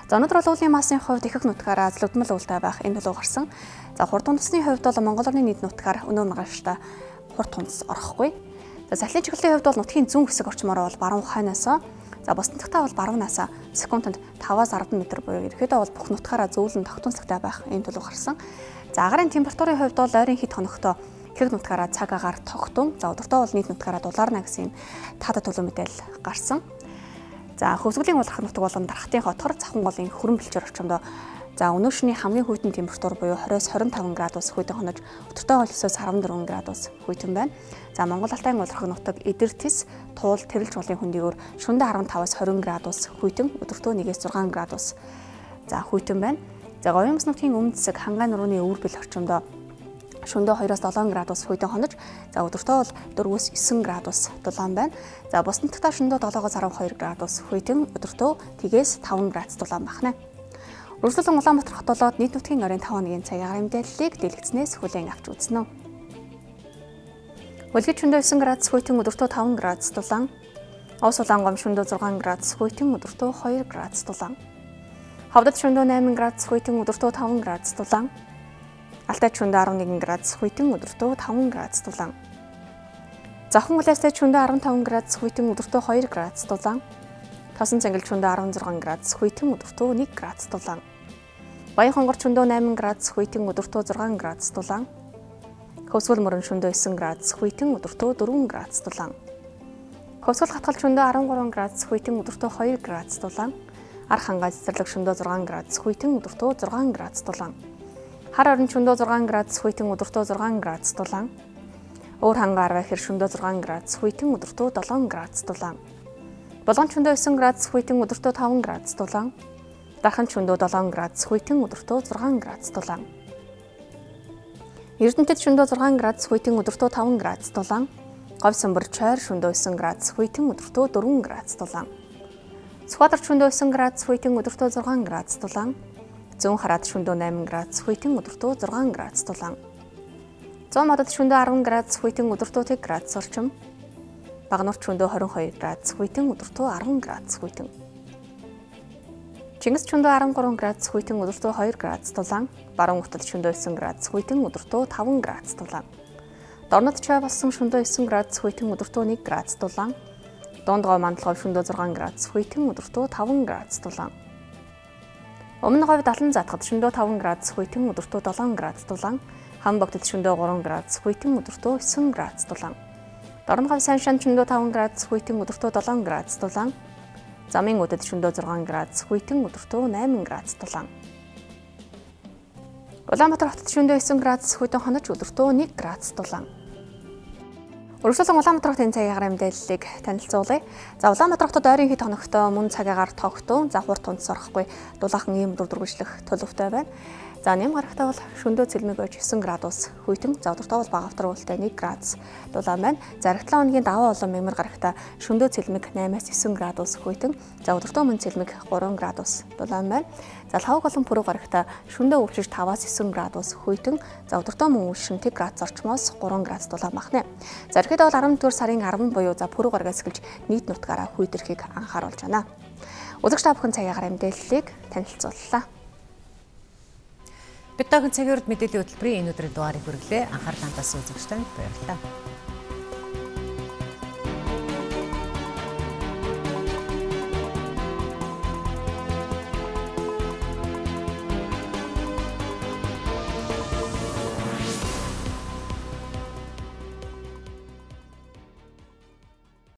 [SPEAKER 8] За өнөөдөр бол уулын массын хувьд ихэнх нутгаараа зөлөвдмөл уултай байх энэ төлөв гарсан. За хурд тунцны хувьд бол Монгол орны нийт нутгаар өнөө маргааштай хурд тунц орохгүй. За салхины чиглэлийн хувьд бол нутгийн зүүн хэсэг орчмоор бол баруун хойноос за босдонтогтаа бол баруунаас секундэд 5-аас 10 м буюу ерөөдөө бол бүх нутгаараа зөөлөн тогтунцлагтай байх энэ төлөв гарсан. За агарын температурын хувьд бол ойрын хэд хоногтой ихэнх нутгаараа цаг агаар тогтун. За өдөртөө бол нийт нутгаараа дулаарна гэсэн таатай төлөв мэдээлэл гарсан. За хөвсгөлийн улирах нутаг болон дархтын хотор завхан голын хүрэн бэлчээр орчимдоо за өнөө шөнийн хамгийн хүйтэн температур буюу 20-25 градус хүйтэн хонож өдөртөө бол 9-14 градус хүйтэн байна. За Монгол Алтайн улирах нутаг Эдэр Тис, Туул, Тэрэлж голын хөндийгөр шөнөдөө 15-20 градус хүйтэн өдөртөө 1-6 градус за хүйтэн байна. За Говийн Мөс нутгийн өмнөд хэсэг Хангаан нурууны өвөрбөл орчимдоо шөнөдөө 2-7 градус хүйтэн хонож за өдөртөө бол 4-9 градус дулаан байна. За босдонтогтаа шөнөдөө 7-12 градус хүйтэн өдөртөө 5 градус дулаан байна. Үргэлжлүүлэн Улаанбаатар хот болоод нийт нутгийн оройн 5 хоногийн цагийн мэдээллийг дэлгэцнээс хүлээн авч үзнэ. Улгид шөнөдөө 9 градус хүйтэн өдөртөө 5 градус дулаан. Ус Улаангом шөнөдөө 6 градус хүйтэн өдөртөө 2 градус дулаан. Ховдод шөнөдөө 8 градус хүйтэн өдөртөө 5 градус дулаан. Алтайд шөнөдөө 11 градус хүйтэн өдөртөө 5 градус дулаан. Завхан улаастай шөнөдөө 15 градус хүйтэн өдөртөө 2 градус дулаан. Тосон цангил шөнөдөө 16 градус хүйтэн өдөртөө 1 градус дулаан. Баян хонгор шөнөдөө 8 градус хүйтэн өдөртөө 6 градус дулаан. Хөвсгөл мөрөн шөнөдөө 9 градус хүйтэн өдөртөө 4 градус дулаан. Хөвсгөл хатгал шөнөдөө 13 градус хүйтэн өдөртөө 2 градус дулаан. Арх хангаа цэцэрлэг шөнөдөө 6 градус хүйтэн өдөртөө 6 градус дулаан. Хар орон шөнөдөө 6 градус хүйтэн өдөртөө 6 градус дулаан. Өөр хангаа арваа хэр шөнөдөө 6 градус хүйтэн өдөртөө 7 градус дулаан. Болгон шөнөдөө 9 градус хүйтэн өдөртөө 5 градус дулаан. Дархан шөнөдөө 7 градус хүйтэн өдөртөө 6 градус дулаан. Эрдэнэтэд шөнөдөө 6 градус хүйтэн өдөртөө 5 градус дулаан. Говь Сумбар Чойр шөнөдөө 9 градус хүйтэн өдөртөө 4 градус дулаан. Сүхбаатар шөнөдөө 9 градус хүйтэн өдөртөө 6 градус дулаан. Зүүн Хараад шөнөдөө 8 градус хүйтэн өдөртөө 6 градус дулаан. Зүүн Модод шөнөдөө 10 градус хүйтэн өдөртөө 1 градус орчим. Багнуурт шөнөдөө 22 градус хүйтэн өдөртөө 10 градус хүйтэн. Чингис шөнөдөө 13 градус хүйтэн өдөртөө 2 градус дулаан. Баруун Утал шөнөдөө 9 градус хүйтэн өдөртөө 5 градус дулаан. Дорнод Чой болсон шөнөдөө 9 градус хүйтэн өдөртөө 1 градус дулаан. Дундгой Мандалгой шөнөдөө 6 градус хүйтэн өдөртөө 5 градус дулаан. Өмнө говь Далан Затгад шөнөдөө 5 градус хүйтэн өдөртөө 7 градус дулаан. Хамбогдод шөнөдөө 3 градус хүйтэн өдөртөө 9 градус дулаан. Дорн говь Саншаан шөнөдөө 5 градус хүйтэн өдөртөө 7 градус дулаан. Замын Өдөд шөнөдөө 6 градус хүйтэн өдөртөө 8 градус дулаан. Улаанбаатар хотод шөнөдөө 9 градус хүйтэн хонож өдөртөө 1 градус дулаан. Үргэлжлүүлэн Улаанбаатар хотын цагийн мэдээллийг танилцуулъя. За Улаанбаатар хотод ойрын хэд хоногтой мөн цагаагаар тогтун, за хурд тунц орохгүй дулаахан ийм дүрдүргүжлэх төлөвтэй байна. За нэм гарагтаа бол шөнөдөө цэлмэг ойж 9 градус хүйтэн, за өдөртөө бол бага автар уултай 1 градус дулаан байна. За 7 хоногийн даваа болон мягмар гарагтаа шөнөдөө цэлмэг 8-аас 9 градус хүйтэн, за өдөртөө мөн цэлмэг 3 градус дулаан байна. За лавг болон пүрэв гарагтаа шөнөдөө өвчж 5-аас 9 градус хүйтэн, за өдөртөө мөн үлшин 1 градус орчмоос 3 градус дулаан байна. За ихэд бол 14 сарын 10 буюу за пүрэв гарагаас эхэлж нийт нутгаараа хүйтэрхийг анхааруулж байна. Үзэгч та бүхэн цагийн мэдээллийг танилцууллаа.
[SPEAKER 1] Бид таахан цагийн мэдээллийн хөтөлбөрийн энэ өдрийн дугаарыг хүргэлээ. Анхаарал хандсан үзэгч танд баярлалаа.